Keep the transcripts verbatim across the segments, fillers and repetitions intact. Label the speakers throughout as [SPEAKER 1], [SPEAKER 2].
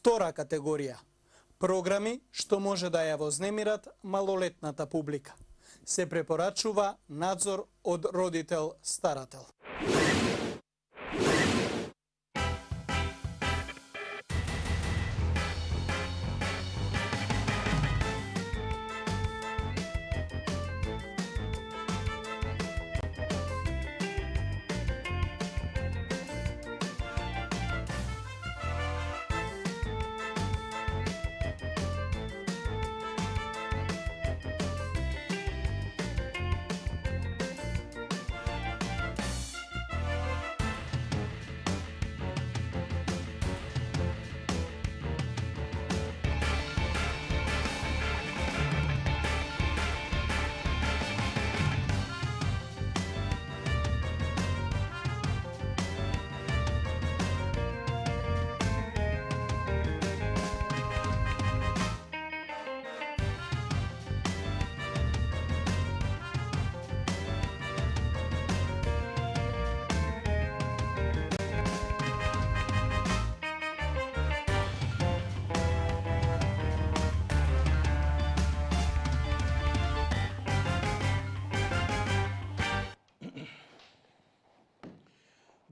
[SPEAKER 1] Втора категорија – програми што може да ја вознемират малолетната публика. Се препорачува надзор од родител-старател.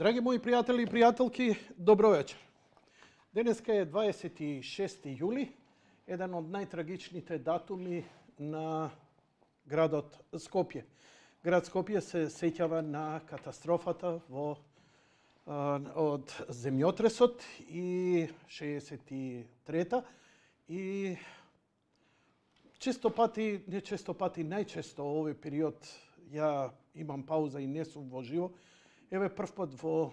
[SPEAKER 2] Драги мои пријатели и пријателки, добро вечер. Денеска е дваесет и шести јули, еден од најтрагичните датуми на градот Скопје. Град Скопје се сеќава на катастрофата во од земјотресот и шеесет и трета и често пати, не често пати, најчесто овој период ја имам пауза и не сум во живо. Еве прв пат во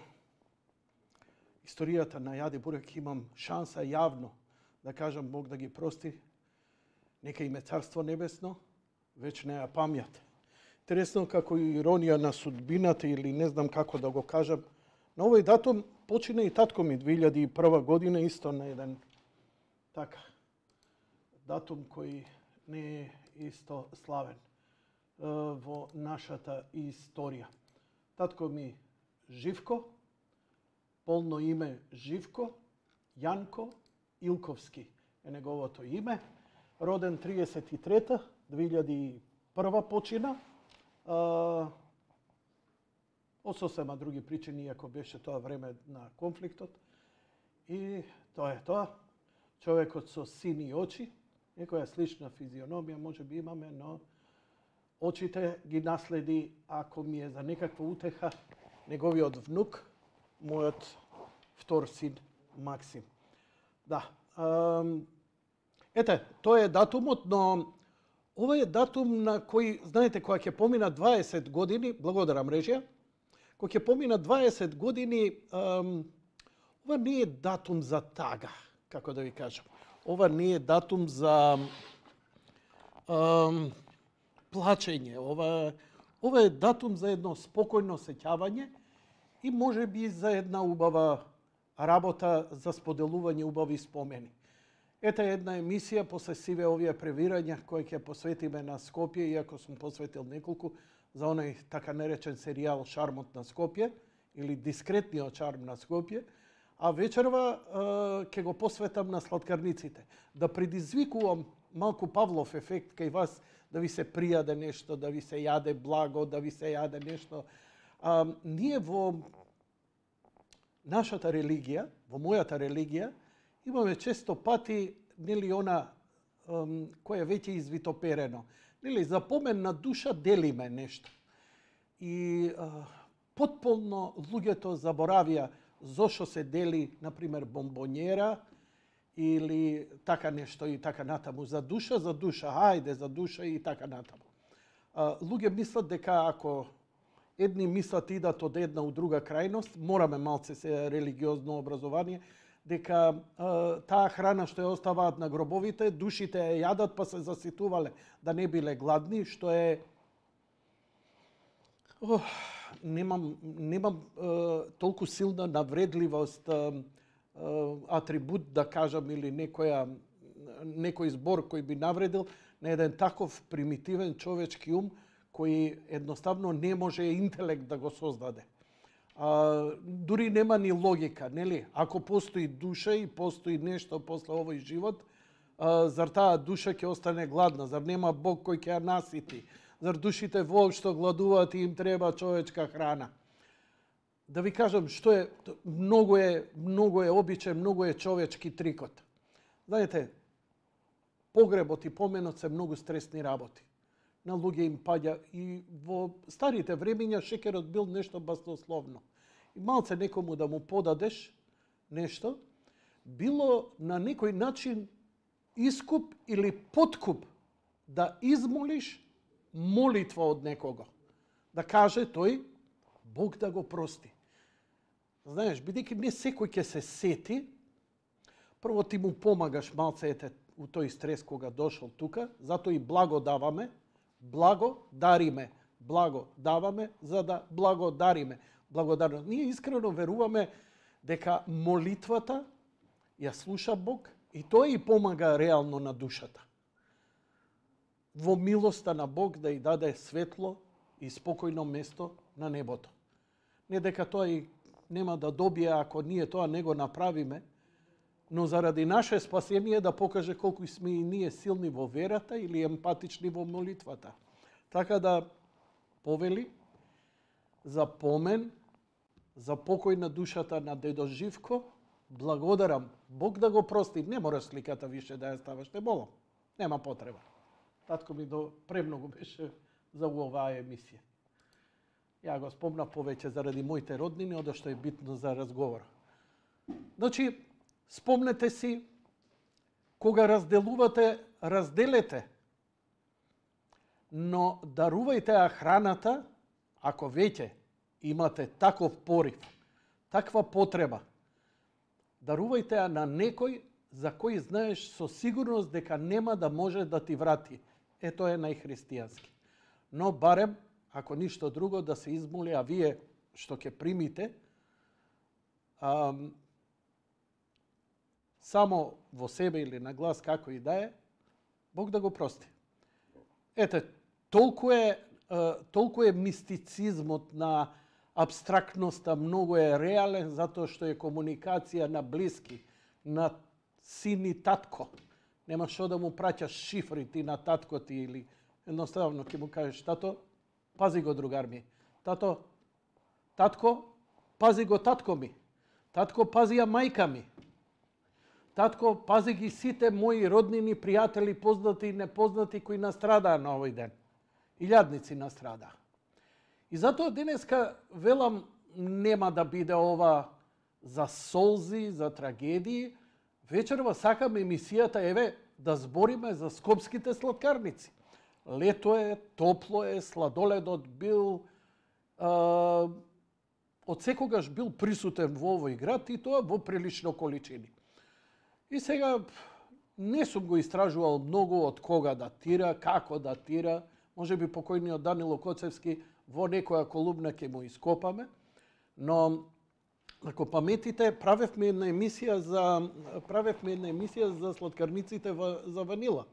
[SPEAKER 2] историјата на Јади Бурек имам шанса јавно да кажам Бог да ги прости, нека им е царство небесно, вечна ја памјат. Интересно како иронија на судбината или не знам како да го кажам, на овој датум почина и татко ми две илјади и прва година исто на еден така датум кој не е исто славен во нашата историја. Татко ми Живко, полно име Живко Јанко Илковски е неговото име, роден триесет и трета, две илјади и прва почина, од сосема други причини, иако беше тоа време на конфликтот. И тоа е тоа. Човекот со сини очи, некоја слична физиономија може би имаме, но очите ги наследи, ако ми е за некаква утеха, неговиот внук, мојот втор син Максим. Да. Ете, тоа е датумот, но ова е датум на кој, знаете, кога ќе помина дваесет години, благодарам режија, кога ќе помина дваесет години, ова не е датум за тага, како да ви кажам. Ова не е датум за плачење. Ова, ова е датум за едно спокојно сеќавање и може би за една убава работа за споделување убави спомени. Ета една емисија после сиве овие превирања кои ќе посветиме на Скопје, иако сум посветил неколку, за оној така наречен серијал Шармот на Скопје или Дискретниот шарм на Скопје, а вечерва ќе го посветам на сладкарниците. Да предизвикувам малку Павлов ефект кај вас, да ви се пријаде нешто, да ви се јаде благо, да ви се јаде нешто. А, ние во нашата религија, во мојата религија, имаме често пати, нели, она ем, кој е веќе извитоперено. Нели, за помен на душа делиме нешто. И а, потполно луѓето заборавија зошто се дели, например, бомбонјера, или така нешто и така натаму. За душа, за душа, хајде за душа и така натаму. А, луѓе мислат дека ако едни мислат идат од една у друга крајност, мораме малце се религиозно образование, дека а, таа храна што ја оставаат на гробовите, душите ја јадат па се заситувале да не биле гладни, што е Ох, немам немам а, толку силна навредливост, а, атрибут да кажам или некоја некој збор кој би навредил на еден таков примитивен човечки ум кој едноставно не може интелект да го создаде. А, дури нема ни логика, нели? Ако постои душа и постои нешто после овој живот, а, зар таа душа ќе остане гладна? Зар нема Бог кој ќе ја насити? Зар душите воопшто гладуваат и им треба човечка храна? Да ви кажам што е, многу е, многу е обичен, многу е човечки трикот. Знаете, погребот и поменот се многу стресни работи. На луѓе им паѓа и во старите времиња шекерот бил нешто баснословно. И малце некому да му подадеш нешто, било на некој начин искуп или подкуп да измолиш молитва од некого. Да каже тој, Бог да го прости. Знаеш, бидејќи не секој ќе се сети, прво ти му помагаш малце ете у тој стрес кога дошол тука, затоа и благо даваме, благо дариме, благо даваме за да благодариме. Благодарност. Ние искрено веруваме дека молитвата ја слуша Бог и тоа и помага реално на душата. Во милоста на Бог да ја даде светло и спокојно место на небото. Не дека тоа и нема да добие ако ние тоа не го направиме, но заради наше спасение да покаже колку сме и ние силни во верата или емпатични во молитвата. Така да повели за помен, за покој на душата на дедо Живко, благодарам. Бог да го прости. Не мораш сликата више да ја ставаш, не молам. Нема потреба. Татко ми до премногу беше за оваа емисија. Ја го спомна повеќе заради моите роднини, одо што е битно за разговор. Значи, спомнете си, кога разделувате, разделете. Но дарувајте ја храната, ако веќе имате таков порив, таква потреба. Дарувајте ја на некој за кој знаеш со сигурност дека нема да може да ти врати. Е, тоа е најхристијански. Но барем, ако ништо друго, да се измоли, а вие што ќе примите, ам, само во себе или на глас, како и да е, Бог да го прости. Ете, толку е, толку е мистицизмот на абстрактноста, многу е реален, затоа што е комуникација на блиски, на син и татко. Нема што да му праќаш шифри ти на татко ти или едноставно ќе му кажеш, тато, пази го другар ми. Тато, татко, пази го татко ми. Татко, пази ја мајка ми. Татко, пази ги сите мои роднини, пријатели, познати и непознати кои настрадаа на овој ден. Илјадници настрадаа. И затоа денеска велам нема да биде ова за солзи, за трагедии. Вечерва сакам емисијата еве да збориме за скопските сладкарници. Лето е, топло е, сладоледот бил а, од секогаш бил присутен во овој град и тоа во прилично количини. И сега не сум го истражувал многу од кога датира, како датира, може би покојниот Данило Коцевски во некоја колумна ќе му ископаме, но ако паметите, правевме една емисија за правевме една емисија за сладкарниците за ванила.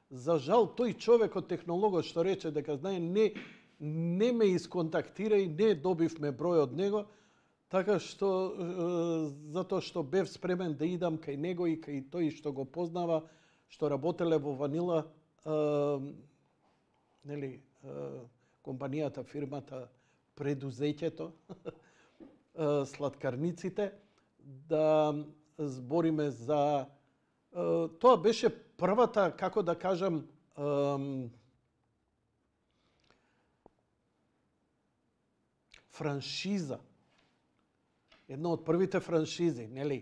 [SPEAKER 2] За жал тој човек од технологот што рече дека знае не не ме исконтактира и не добивме број од него, така што затоа што бев спремен да идам кај него и кај тој што го познава, што работеле во ванила, нели, компанијата, фирмата, предузеќето, сладкарниците, да збориме за... Тоа беше првата, како да кажам, франшиза. Една од првите франшизи, нели?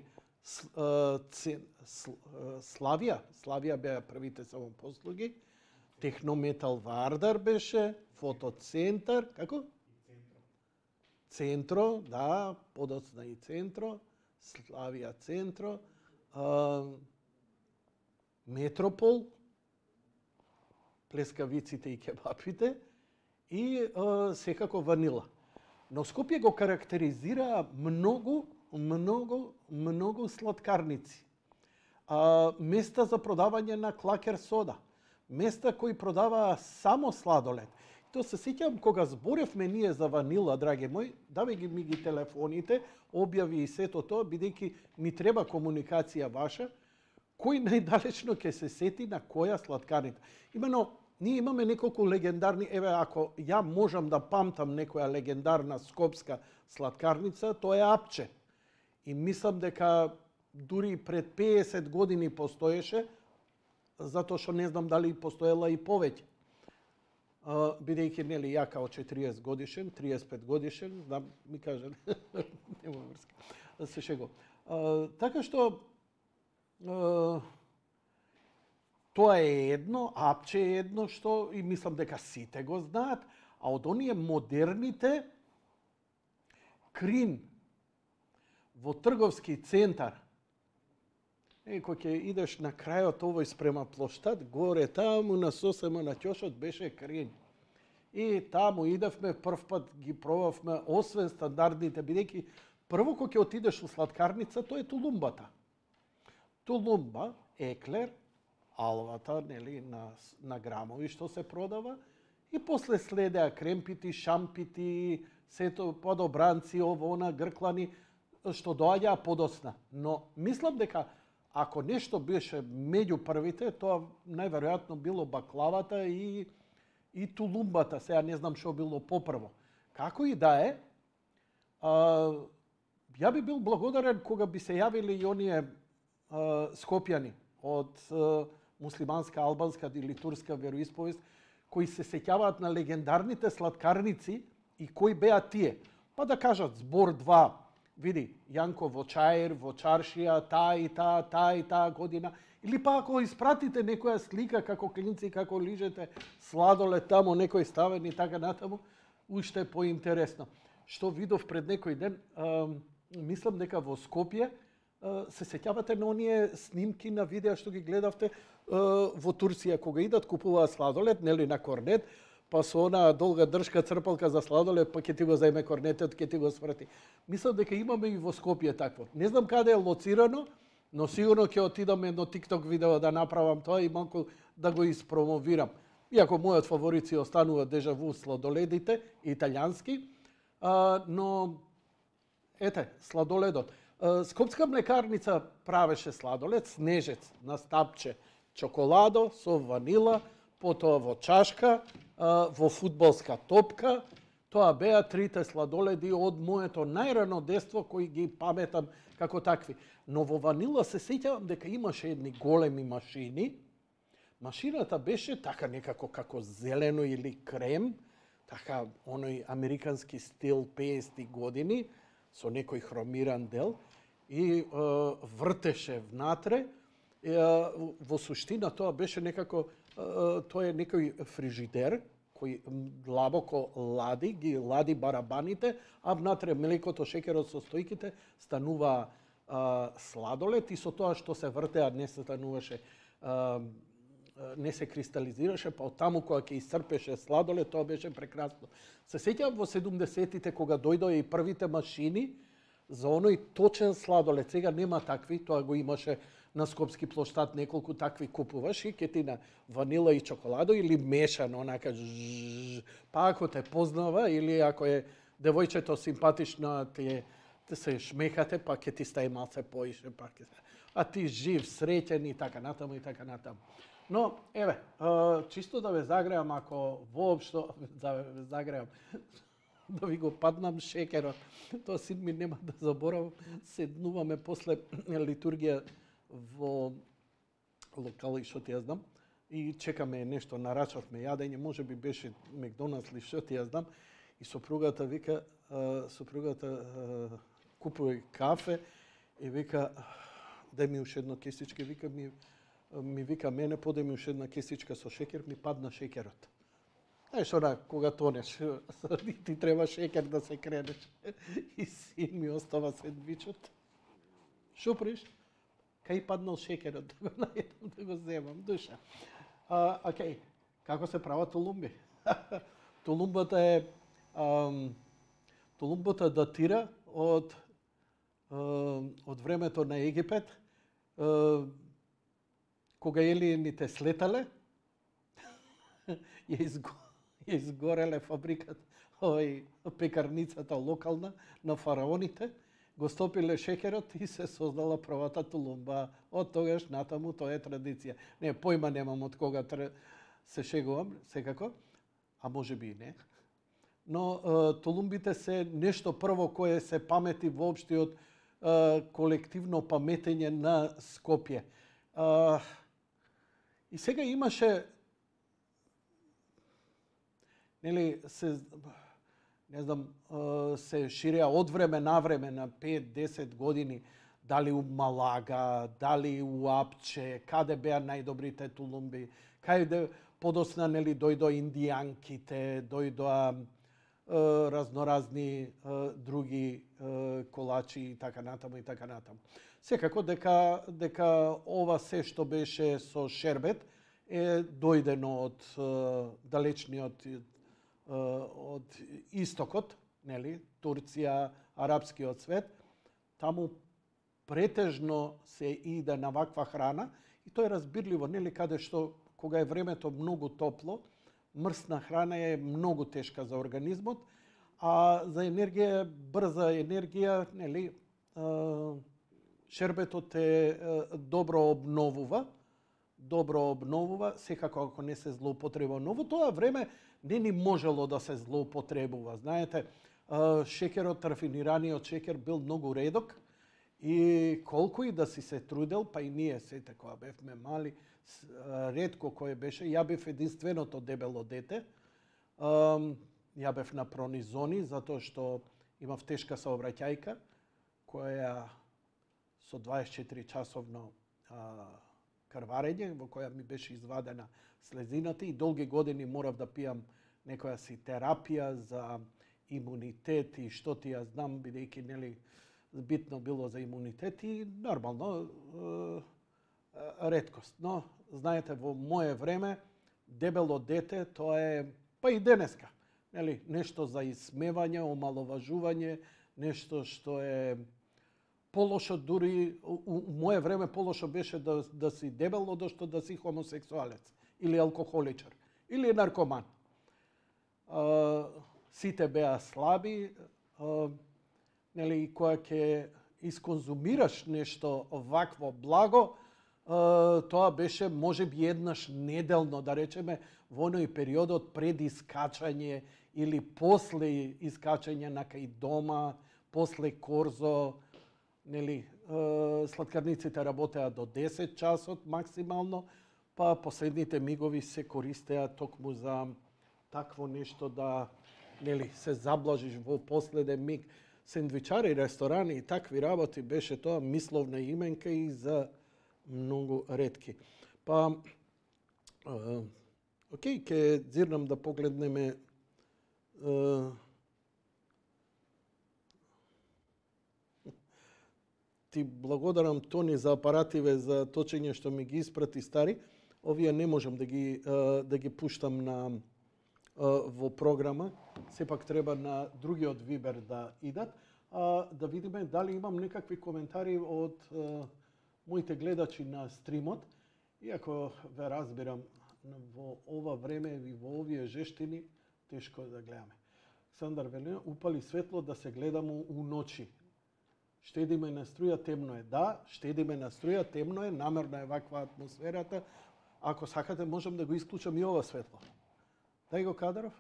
[SPEAKER 2] Славија, Славија беа првите самопослуги, Технометал Вардар беше, Фотоцентар, како? Центро, да, подоцна и Центро, Славија Центро, Метропол, плескавиците и кебапите и секако ванила. Но Скопје го карактеризира многу, многу, многу сладкарници. А, места за продавање на клакер сода. Места кои продаваа само сладолед. то се сеќавам кога зборевме ние за ванила, драги мои, давај ги ми ги телефоните, објави и сето тоа, бидејќи ми треба комуникација ваша, кој најдалечно ќе се сети на која сладкарница. Имено, ние имаме неколку легендарни, еве, ако ја можам да памтам некоја легендарна скопска сладкарница, тоа е Апче. И мислам дека дури пред пеесет години постоеше, затоа што не знам дали постоела и повеќе. Бидејќи, нели, ја као четириесет годишен, триесет и пет годишен, знам, ми кажа, нема врска, се шегувам. Така што, тоа е едно, Апче е едно што и мислам дека сите го знаат, а од оние модерните Крин во трговски центар, е, кој ќе идеш на крајот овој спрема плоштад, горе таму на сосема на ќошот беше Крин. И таму идевме, прв пат ги пробавме, освен стандардните, бидејќи прво кој ќе отидеш у сладкарница, тоа е тулумбата. Тулумба, еклер, алвата, нели, на, на грамови што се продава, и после следеа кремпити, шампити, сето подобранци, ово, она, грклани, што доаѓаа подосна. Но мислам дека ако нешто беше меѓу првите, тоа најверојатно било баклавата и и тулумбата. Сега не знам што било попрво. Како и да е, а, ја би бил благодарен кога би се јавили и оние а, скопјани од а, муслиманска, албанска или турска вероисповест, кои се сеќаваат на легендарните сладкарници и кои беа тие. Па да кажат збор два, види, Јанко во Чаир, во Чаршија, таа и таа, таа и таа година. Или па ако испратите некоја слика како клинци, како лижете сладолед тамо, некој ставен и така натаму, уште поинтересно. Што видов пред некој ден, а, мислам дека во Скопје а, се сеќавате на оние снимки на видеа што ги гледавте а, во Турција, кога идат купуваат сладолед, нели на корнет, па со она долга дршка црпалка за сладолед, па ќе ти го зајме корнетот, ќе ти го сврти. Мислам дека имаме и во Скопје такво. Не знам каде е лоцирано, но сигурно ќе отидам едно TikTok видео да направам тоа и малку да го испромовирам. Иако мојот фаворит си останува дежаву сладоледите, италијански, а, но ете, сладоледот. А, Скопска млекарница правеше сладолед, снежец на стапче, чоколадо со ванила, потоа во чашка, а, во фудбалска топка. Тоа беа трите сладоледи од моето најрано детство кои ги паметам како такви. Но во ванила се сеќавам дека имаше едни големи машини. Машината беше така некако како зелено или крем, така оној американски стил пеесетти години, со некој хромиран дел, и е, вртеше внатре. Е, во суштина тоа беше некако, е, тоа е некој фрижидер, кој длабоко лади, ги лади барабаните, а внатре млекото, шекерот со стојките станува а, сладолед и со тоа што се вртеа не се стануваше, а, не се кристализираше, па од таму кога ќе исцрпеше сладолед, тоа беше прекрасно. Се сеќавам во седумдесетите кога дојдоа и првите машини за оној точен сладолед. Сега нема такви, тоа го имаше на Скопски плоштад, неколку такви купуваш и ке ти на ванила и чоколадо или мешано, онака жжж, па ако те познава или ако е девојчето симпатично, ти, ти се шмехате, па ке ти стаи малце поише, па ке... а ти жив, среќен и така натаму и така натаму. Но, еве, чисто да ве загреам, ако воопшто да ве загреам, да ви го паднам шекерот. Тоа син ми нема да заборавам. Седнуваме после литургија во локал и што ти ја знам и чекаме нешто, нарачавме јадење, може би беше Макдоналдс или што ти ја знам, и сопругата вика, сопругата купува кафе и вика, дај ми уште едно кесичке, вика ми ми вика мене, подај ми уште една кесичка со шекер, ми падна шекерот. Знаеш, она, кога тонеш, ти треба шекер да се кренеш. И син ми остава сендвичот. Шо приш? Кај паднал шекерот, да го најдам, да го земам, душа. А, окей, како се прават тулумби? Тулумбата е... Ам, тулумбата датира од, од времето на Египет, кога елиените слетале, ја, изго, изгореле фабриката, овој пекарницата локална на фараоните, го стопиле шеќерот и се создала првата тулумба. Од тогаш натаму тоа е традиција. Не, појма немам од кога се шегувам, секако, а може би и не. Но е, тулумбите се нешто прво кое се памети воопштиот е, колективно паметење на Скопје. Е, и сега имаше нели се не знам, се ширеа од време на време на пет-десет години, дали у Малага, дали у Апче, каде беа најдобрите тулумби, каде подосна нели дојдоа индијанките, дојдоа е, разноразни е, други е, колачи и така натаму и така натаму. Секако дека дека ова се што беше со шербет е дојдено од е, далечниот од истокот, нели, Турција, арапскиот свет, таму претежно се иде на ваква храна и тоа е разбирливо, нели, каде што кога е времето многу топло, мрсна храна е многу тешка за организмот, а за енергија, брза енергија, нели, шербетот е добро обновува, добро обновува, секако ако не се злоупотреба. Но во тоа време не ни можело да се злоупотребува. Знаете, шеќерот, рафинираниот шеќер бил многу редок и колку и да си се трудел, па и ние сете кога бевме мали, ретко кој беше, ја бев единственото дебело дете. Ја бев на пронизони, затоа што имав тешка сообраќајка, која со дваесет и четири часовно крварење, во која ми беше извадена слезината и долги години морав да пијам некоја си терапија за имунитет и што ти ја знам, бидејќи нели битно било за имунитет и нормално е, реткост. Но знаете, во мое време дебело дете тоа е па и денеска, нели, нешто за исмевање, омаловажување, нешто што е полошо, дури у мое време полошо беше да, да си дебел одошто да си хомосексуалец или алкохоличар или наркоман. А, сите беа слаби, а, нели, кога ќе исконзумираш нешто вакво благо, а, тоа беше можеби еднаш неделно, да речеме, во оној периодот пред искачање или после искачање на кај дома, после корзо, нели, сладкарниците работеа до десет часот максимално, па последните мигови се користеа токму за такво нешто да, нели, се заблажиш во последен миг. Сендвичари, ресторани и такви работи беше тоа мисловна именка и за многу ретки. Па, е, окей, ќе дзирнам да погледнеме е, ти благодарам, Тони, за апаративе за точење што ми ги испрати стари. Овие не можам да ги да ги пуштам на во програма. Сепак треба на другиот Вибер да идат. А, да видиме дали имам некакви коментари од моите гледачи на стримот. Иако ве разбирам, во ова време и во овие жештини тешко да гледаме. Сандар вели, упали светло да се гледамо у ночи. Штедиме на струја, темно е. Да, штедиме на струја, темно е, намерно е ваква атмосферата. Ако сакате, можам да го исклучам и ова светло. Дај го, Кадаров.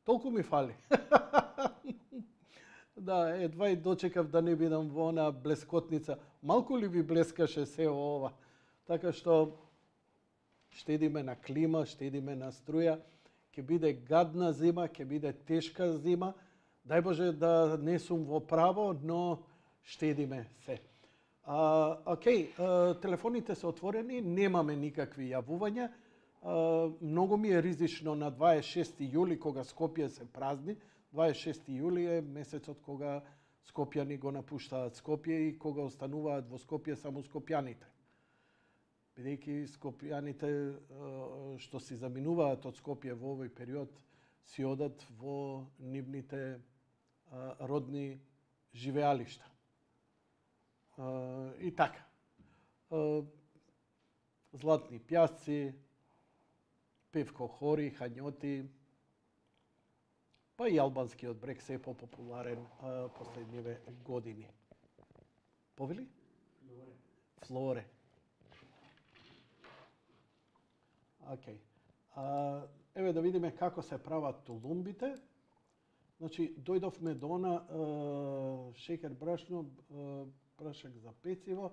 [SPEAKER 2] Толку ми фали. Да, едва и дочекав да не бидам во она блескотница. Малку ли ви блескаше се ова? Така што штедиме на клима, штедиме на струја. Ќе биде гадна зима, ќе биде тешка зима. Дај Боже да не сум во право, но штедиме се. А, окей, а, телефоните се отворени, немаме никакви јавувања. А, многу ми е ризично на дваесет и шести јули, кога Скопје се празни. дваесет и шести јули е месецот кога скопјани го напуштаат Скопје и кога остануваат во Скопје само скопјаните. Бидејќи скопјаните што си заминуваат од Скопје во овој период си одат во нивните родни живеалишта. И така. Златни пјасци, Певко Хори, Хањоти, Па и албанскиот брег се е попопуларен а, последниве години. Повели? Флоре. Флоре. Океј. А, еве да видиме како се прават тулумбите. Значи, дојдовме до она а, шекер, брашно, а, прашак за пecivo.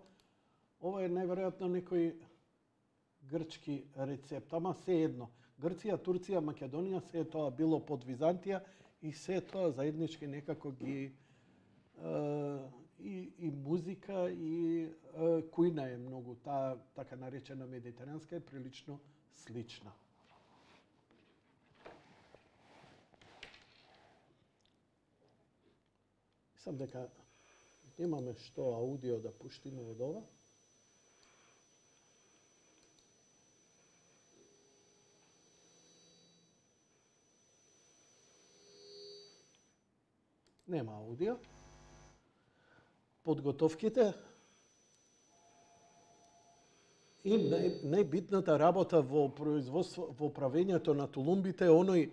[SPEAKER 2] Ова е најверојатно некој грчки рецепт, ама се едно. Грција, Турција, Македонија, се тоа било под Византија и се тоа заеднички некако ги а, и, и музика и а, кујна е многу, таа така наречена медитеранска е прилично слична. Мислам дека немаме што аудио да пуштиме од ова. Нема аудио. Подготовките и нај, најбитната работа во производство, во правењето на тулумбите е оној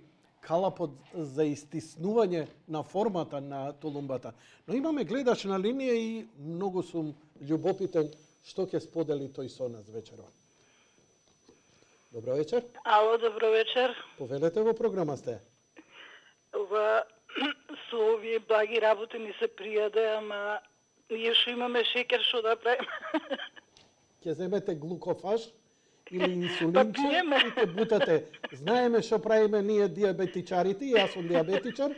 [SPEAKER 2] калапот за истиснување на формата на тулумбата. Но имаме гледач на линија и многу сум љубопитен што ќе сподели тој со нас вечерва. Добро вечер.
[SPEAKER 3] Ало, добро вечер.
[SPEAKER 2] Повелете, во програма сте.
[SPEAKER 3] Ова со овие благи работи ни се пријаде, ама ние што имаме шекер, што да правиме?
[SPEAKER 2] Ќе земете глукофаж или инсулинче
[SPEAKER 3] Па пиеме.
[SPEAKER 2] и ќе бутате. Знаеме што правиме ние диабетичарите, и јас сум диабетичар.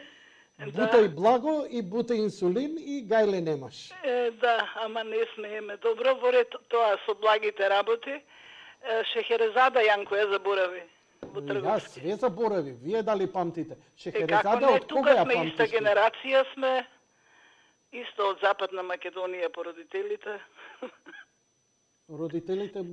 [SPEAKER 2] Бутај благо и бутај инсулин и гајле немаш.
[SPEAKER 3] Е, да, ама не смееме. Добро, воред тоа со благите работи. Е, Шехерезада Јанко ја заборави во
[SPEAKER 2] Јас
[SPEAKER 3] трговски.
[SPEAKER 2] све заборави. Вие дали памтите?
[SPEAKER 3] Е, како
[SPEAKER 2] Шехерезада
[SPEAKER 3] не,
[SPEAKER 2] од кога
[SPEAKER 3] тука
[SPEAKER 2] ја
[SPEAKER 3] сме иста
[SPEAKER 2] памтиш?
[SPEAKER 3] генерација сме, исто од Западна Македонија по родителите.
[SPEAKER 2] Родителите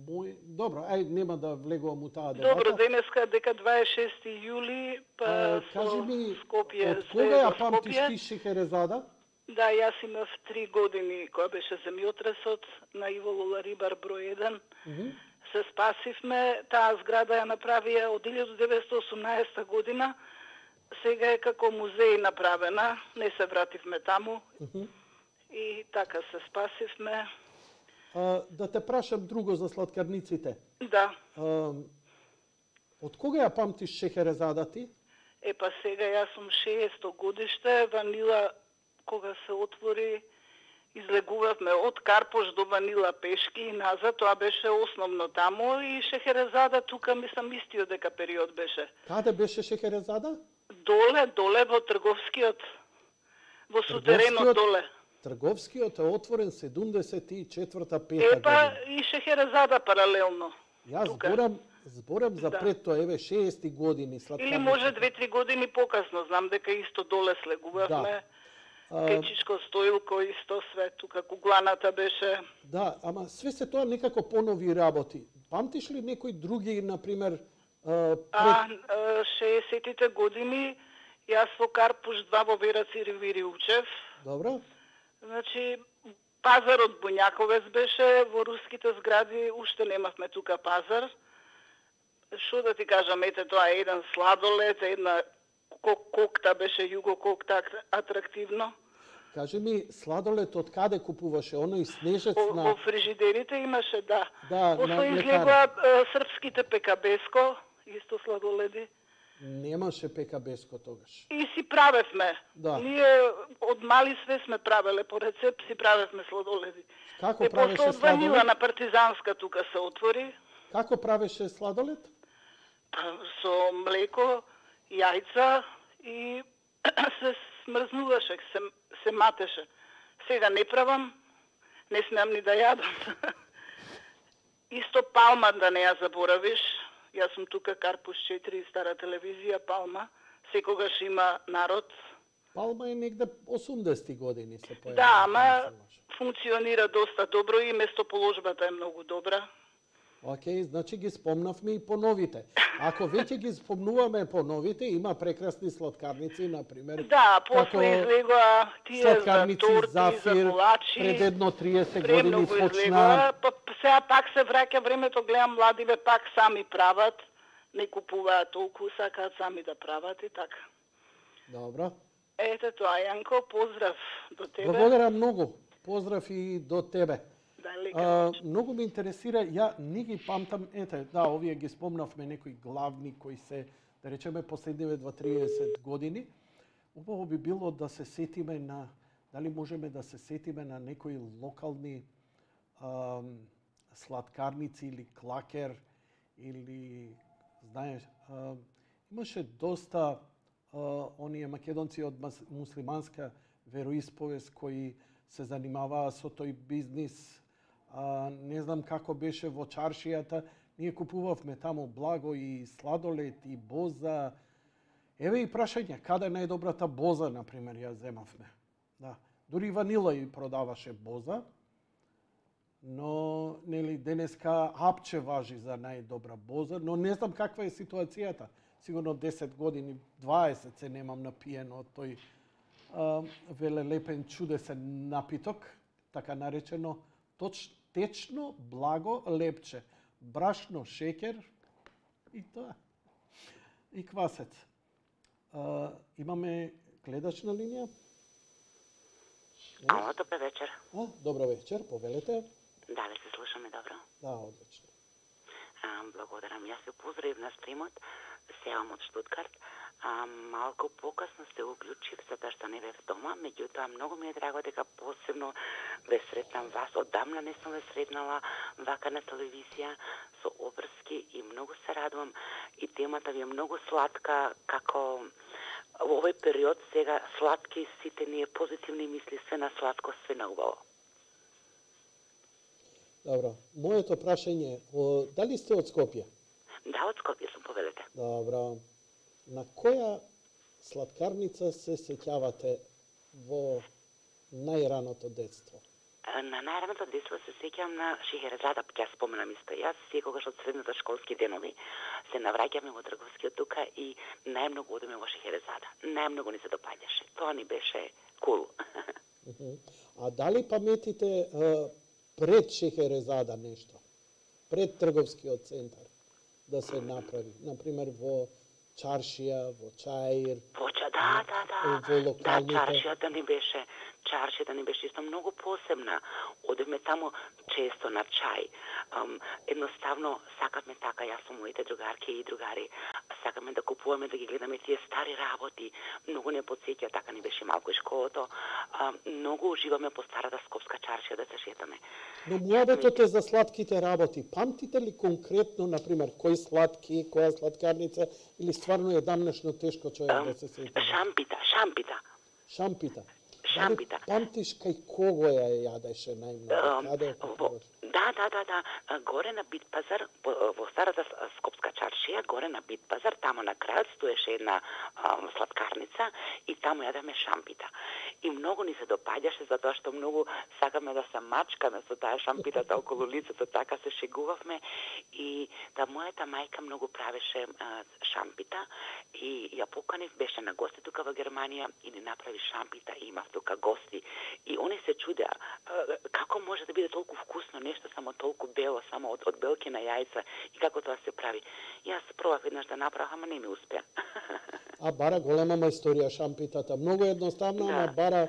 [SPEAKER 2] мои... Добро, ај нема да влегувам у таа дебата.
[SPEAKER 3] Добро, денеска дека дваесет и шести јули, па
[SPEAKER 2] А,
[SPEAKER 3] со
[SPEAKER 2] кажи ми,
[SPEAKER 3] Скопје,
[SPEAKER 2] од кога ја памтиш
[SPEAKER 3] Скопје.
[SPEAKER 2] ти Шехерезада?
[SPEAKER 3] Да, јас имав три години кога беше земјотресот на Иво Лоларибар број еден.
[SPEAKER 2] Uh -huh.
[SPEAKER 3] Се спасивме, таа зграда ја направија од илјада деветстотини и осумнаесета година. Сега е како музеј направена, не се вративме таму.
[SPEAKER 2] Uh -huh.
[SPEAKER 3] И така се спасивме.
[SPEAKER 2] А, да те прашам друго за сладкарниците.
[SPEAKER 3] Да.
[SPEAKER 2] А, од кога ја памтиш Шехерезада ти?
[SPEAKER 3] Е, па сега јас сум шеесто годиште, ванила кога се отвори, излегувавме од Карпош до Ванила пешки и назад, тоа беше основно таму и Шехерезада тука мислам истиот дека период беше.
[SPEAKER 2] Каде беше Шехерезада?
[SPEAKER 3] Доле, доле во трговскиот, во сутеренот доле.
[SPEAKER 2] Трговскиот е отворен седумдесет и четврта пета
[SPEAKER 3] Е, па
[SPEAKER 2] година.
[SPEAKER 3] и Шехерезада паралелно.
[SPEAKER 2] Јас
[SPEAKER 3] тука.
[SPEAKER 2] зборам, зборам за
[SPEAKER 3] Да.
[SPEAKER 2] пред тоа, еве шеести години сладкарниците.
[SPEAKER 3] Или може две-три години покасно, знам дека исто доле слегувавме.
[SPEAKER 2] Да. А,
[SPEAKER 3] Кечичко Стоилко исто све тука, кугланата беше.
[SPEAKER 2] да, ама све се тоа некако понови работи. Памтиш ли некои други, например, а, пред...
[SPEAKER 3] А, а, шеесеттите години, јас во Карпуш два во Вераци Ривири учев.
[SPEAKER 2] Добро?
[SPEAKER 3] Значи, пазарот Буњаковец беше, во руските згради уште немавме тука пазар. Што да ти кажам, ете тоа е еден сладолед, една кок кокта беше југо кокта атрактивно.
[SPEAKER 2] Кажи ми, сладолед од каде купуваше? Оној снежец
[SPEAKER 3] Во,
[SPEAKER 2] на...
[SPEAKER 3] во фрижидерите имаше, да.
[SPEAKER 2] Да,
[SPEAKER 3] После
[SPEAKER 2] на
[SPEAKER 3] излегоа е, српските пекабеско, исто сладоледи.
[SPEAKER 2] Немаше пекабеско тогаш.
[SPEAKER 3] И си правевме.
[SPEAKER 2] Да.
[SPEAKER 3] Ние од мали све сме правеле по рецепт, си правевме сладоледи.
[SPEAKER 2] Како
[SPEAKER 3] Е,
[SPEAKER 2] правеше
[SPEAKER 3] после од Ванила
[SPEAKER 2] сладолед?
[SPEAKER 3] на Партизанска тука се отвори.
[SPEAKER 2] Како правеше сладолед?
[SPEAKER 3] Па, со млеко, јајца и се смрзнуваше, се, се матеше. Сега не правам, не смеам ни да јадам. Исто Палма да не ја заборавиш. Јас сум тука Карпуш четири, стара телевизија, Палма. Секогаш има народ.
[SPEAKER 2] Палма е негде осумдесети години се појави.
[SPEAKER 3] Да, ама функционира доста добро и местоположбата е многу добра.
[SPEAKER 2] Океј, значи ги спомнавме и по новите. Ако веќе ги спомнуваме по новите, има прекрасни сладкарници, например.
[SPEAKER 3] Да, после излегоа тие за
[SPEAKER 2] сладкарници
[SPEAKER 3] торти,
[SPEAKER 2] Зафир,
[SPEAKER 3] за колачи.
[SPEAKER 2] пред едно триесет години
[SPEAKER 3] Премногу
[SPEAKER 2] почна.
[SPEAKER 3] излегоа, па сега пак се враќа времето, гледам младиве пак сами прават, не купуваат толку, сакаат сами да прават и така.
[SPEAKER 2] Добро.
[SPEAKER 3] Ете тоа, Јанко, поздрав до тебе.
[SPEAKER 2] Благодарам многу. Поздрав и до тебе.
[SPEAKER 3] Дали
[SPEAKER 2] А, многу ме интересира, ја не ги памтам, ете, да, овие ги спомнавме некои главни кои се, да речеме, последниве дваесет години. Убаво би било да се сетиме на, дали можеме да се сетиме на некои локални ам, сладкарници или клакер, или, знаеш, ам, имаше доста а, оние македонци од муслиманска вероисповест кои се занимаваа со тој бизнис. А, не знам како беше во чаршијата. Ние купувавме таму благо и сладолед и боза. Еве и прашање, каде е најдобрата боза, например, ја земавме. Да. Дури ванила и продаваше боза, но нели денеска апче важи за најдобра боза, но не знам каква е ситуацијата. Сигурно десет години, дваесет се немам напиено од тој а, велелепен чудесен напиток, така наречено точ, течно благо лепче. Брашно, шекер и тоа. И квасец. А, имаме гледач на линија?
[SPEAKER 4] Ало, добро вечер.
[SPEAKER 2] А, добро вечер, повелете.
[SPEAKER 4] Дали се слушаме добро?
[SPEAKER 2] Да, одлично.
[SPEAKER 4] А, благодарам. Јас се поздравив на стримот, сеам од Штутгарт. А, малку покасно се уклучив, затоа што не бев дома, меѓутоа многу ми е драго дека посебно ве сретнам вас. Одамна не сум ве сретнала вака на телевизија со обрски и многу се радувам и темата ви е многу сладка, како во овој период сега сладки сите ние позитивни мисли, све на сладко, све на убаво.
[SPEAKER 2] Добро. Моето прашање е, о, дали сте од Скопје?
[SPEAKER 4] Да, од Скопје сум, повелете.
[SPEAKER 2] Добро. На која сладкарница се сеќавате во најраното детство?
[SPEAKER 4] На најраното детство се сеќавам на Шехерезада, ќе споменам исто. Јас секогаш од средната школски денови се навраќаме во Трговскиот тука и најмногу одеме во Шехерезада. Најмногу ни се допаѓаше. Тоа ни беше кул.
[SPEAKER 2] А дали паметите а, пред Шехерезада нешто? Пред Трговскиот центар да се направи? Например, во Чаршија, во Чаир,
[SPEAKER 4] Поча, да, да, да.
[SPEAKER 2] во локалните...
[SPEAKER 4] Да, чаршијата ни беше, чаршијата ни беше исто многу посебна. Одевме таму често на чај. Um, едноставно сакавме така, јас со моите другарки и другари, сакаме да купуваме, да ги гледаме тие стари работи. Многу не потсеќа, така ни беше малку и школото. Um, многу уживаме по старата скопска чаршија да се шетаме.
[SPEAKER 2] Но муабетот е за сладките работи. Памтите ли конкретно, например, кој сладки, која сладкарница, или стварно е дамнешно тешко човек
[SPEAKER 4] Um,
[SPEAKER 2] да се сети?
[SPEAKER 4] шампита, шампита.
[SPEAKER 2] Шампита.
[SPEAKER 4] Шампита.
[SPEAKER 2] Дали памтиш кај кого ја јадеше најмногу?
[SPEAKER 4] Um,
[SPEAKER 2] Каде е
[SPEAKER 4] во,
[SPEAKER 2] купуваш?
[SPEAKER 4] да, да, да, да. Горе на Бит пазар, во, во старата скопска чаршија, горе на Бит пазар, тамо на крајот стоеше една um, сладкарница и тамо јадеме шампита. И многу ни се допаѓаше затоа што многу сакаме да се мачкаме со таа шампитата околу лицето, така се шегувавме и да мојата мајка многу правеше а, шампита и ја поканив, беше на гости тука во Германија и ни направи шампита и имав тука гости и они се чудеа како може да биде толку вкусно нешто, само толку бело, само од, од белки на јајца и како тоа се прави. Јас пробав еднаш да направам, ама не ми успеа.
[SPEAKER 2] А бара голема мајсторија шампитата. Многу едноставно,
[SPEAKER 4] Да.
[SPEAKER 2] ама бара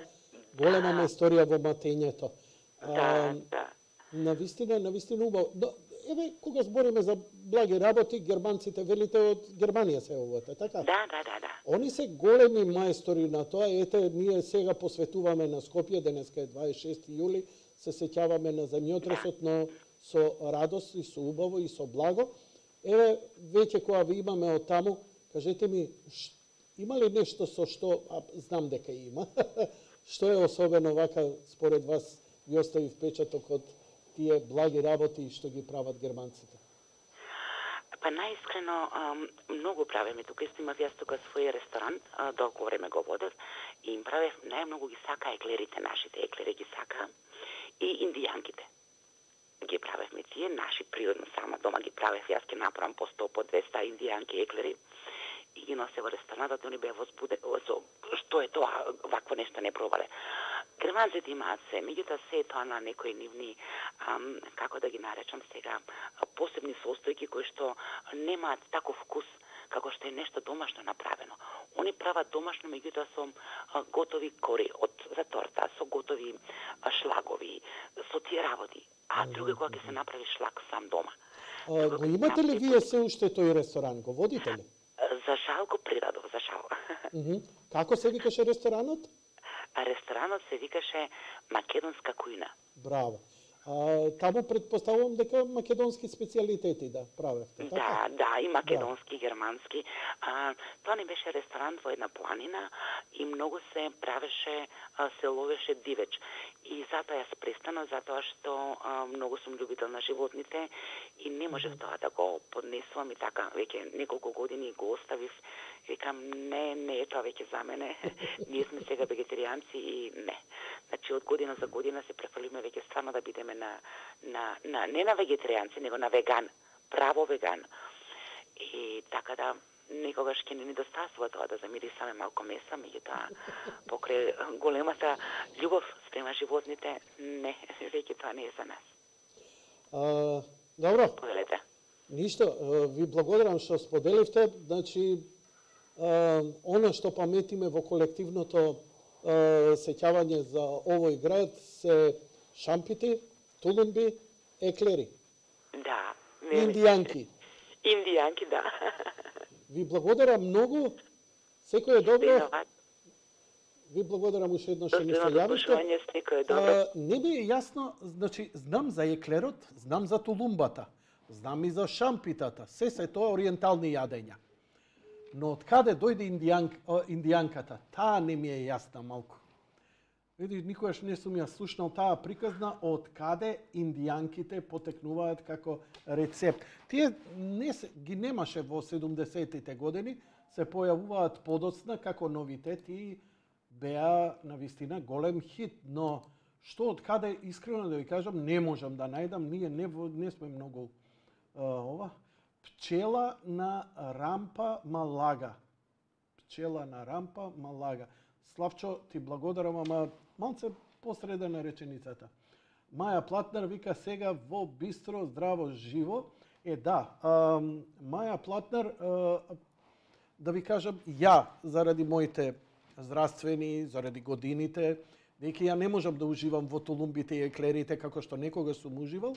[SPEAKER 2] голема мајсторија во матењето.
[SPEAKER 4] Да, да.
[SPEAKER 2] Навистина, навистина убаво. Но, еве, кога збориме за благи работи, германците велите од Германија се овоте, така?
[SPEAKER 4] Да, да, да, да.
[SPEAKER 2] Они се големи мајстори на тоа. Ете, ние сега посветуваме на Скопје, денеска е дваесет и шести јули, се сеќаваме на земјотресот, но со радост и со убаво и со благо. Еве, веќе кога ви имаме од таму, кажете ми, ш, има ли нешто со што, а знам дека има, што е особено вака, според вас, ви остави впечаток од тие благи работи што ги прават германците?
[SPEAKER 4] Па најискрено, многу правиме тука, исто имав јас тука свој ресторан, а, долго време го водев, и им правев, најмногу ги сака еклерите, нашите еклери ги сака, и индијанките. Ги правевме тие, наши природно сама дома ги правев, јас ги направам по сто, по двеста индијанки еклери, и ги носе во ресторанатот, они беа возбудени, што е тоа, вакво нешто не пробале. Германците имаат се, меѓутоа се е тоа на некои нивни, ам, како да ги наречам сега, посебни состојки кои што немаат таков вкус како што е нешто домашно направено. Они прават домашно, меѓутоа со а, готови кори од за торта, со готови а, шлагови, со тие работи. А друго кога ќе се направи шлаг сам дома.
[SPEAKER 2] А, го имате ли вие се уште тој ресторан? Го водите ли?
[SPEAKER 4] За жал го придадов, за жал.
[SPEAKER 2] Uh -huh. Како се викаше ресторанот?
[SPEAKER 4] А ресторанот се викаше Македонска кујна.
[SPEAKER 2] Браво. А, таму предпоставувам дека македонски специјалитети да правевте, така?
[SPEAKER 4] Да, да, и македонски, да. Германски. А, тоа не беше ресторан во една планина и многу се правеше, а, се ловеше дивеч. И затоа јас престанав, затоа што а, многу сум љубител на животните и не можев тоа да го поднесувам и така, веќе неколку години го оставив. Викам, не, не е тоа веќе за мене. Ние сме сега вегетаријанци и не. Значи, од година за година се префрлиме веќе стварно да бидеме на, на, на, не на вегетаријанци, него на веган. Право веган. И така да, некогаш ќе не недостасува тоа да замирисаме малку меса, меѓутоа покрај големата љубов спрема животните, не, веќе тоа не е за нас.
[SPEAKER 2] А, добро.
[SPEAKER 4] Поделете.
[SPEAKER 2] Ништо, ви благодарам што споделивте. Значи, а, она што паметиме во колективното а, сеќавање за овој град се шампити, тулумби, еклери.
[SPEAKER 4] Да.
[SPEAKER 2] Индијанки.
[SPEAKER 4] Индијанки, да.
[SPEAKER 2] Ви благодарам многу. Секој е добро. Ви благодарам уште еднаш што ми се јавивте.
[SPEAKER 4] Секој е добро.
[SPEAKER 2] Не ми е јасно, значи, знам за еклерот, знам за тулумбата, знам и за шампитата. Се се тоа ориентални јадења. Но од каде дојде индијанк, индијанката? Таа не ми е јасна малку. Види, никогаш не сум ја слушнал таа приказна од каде индијанките потекнуваат како рецепт. Тие не се, ги немаше во седумдесетите години, се појавуваат подоцна како новитет и беа навистина голем хит, но што од каде, искрено да ви кажам, не можам да најдам, ние не, не сме многу а, ова. Пчела на рампа Малага. Пчела на рампа Малага. Славчо, ти благодарам, ама малце посреде на реченицата. Маја Платнер вика сега во бистро, здраво, живо. Е, да, а, Маја Платнер, а, да ви кажам, ја, заради моите здравствени, заради годините, веќе ја не можам да уживам во тулумбите и еклерите како што некога сум уживал,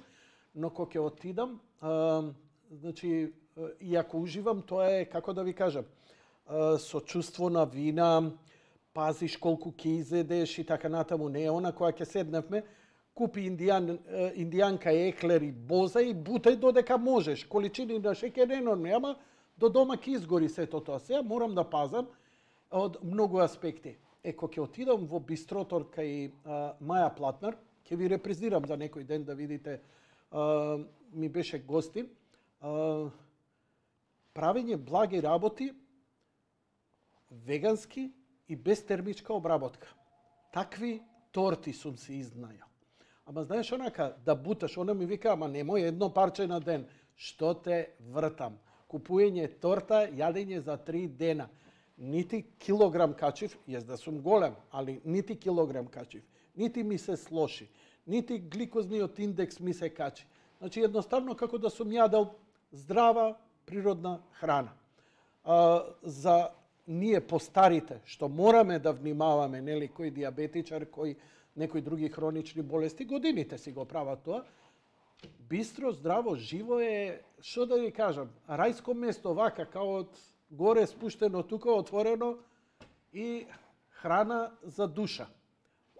[SPEAKER 2] но кога ќе отидам, а, значи, и ако уживам, тоа е, како да ви кажам, а, со чувство на вина, пазиш колку ќе изедеш и така натаму. Не е она која ќе седневме, купи индијан, индијанка еклер и боза и бутај додека можеш. Количини на шеќер енормни, ама до дома ќе изгори сето тоа. Сега морам да пазам од многу аспекти. Е, кога ќе отидам во бистрото кај а, Маја Платнер, ќе ви репрезирам за некој ден да видите, а, ми беше гостин, а, правење благи работи, вегански и без термичка обработка. Такви торти сум се изнајал. Ама знаеш онака, да буташ, она ми вика, ама немој едно парче на ден. Што те вртам? Купуење торта, јадење за три дена. Нити килограм качив, јас да сум голем, али нити килограм качив. Нити ми се слоши. Нити гликозниот индекс ми се качи. Значи, едноставно како да сум јадел здрава, природна храна. А, за ние постарите, што мораме да внимаваме, нели, кој диабетичар, кој некои други хронични болести, годините си го прават тоа. Бистро, здраво, живо е, што да ви кажам, рајско место, вака, као од горе спуштено, тука отворено и храна за душа.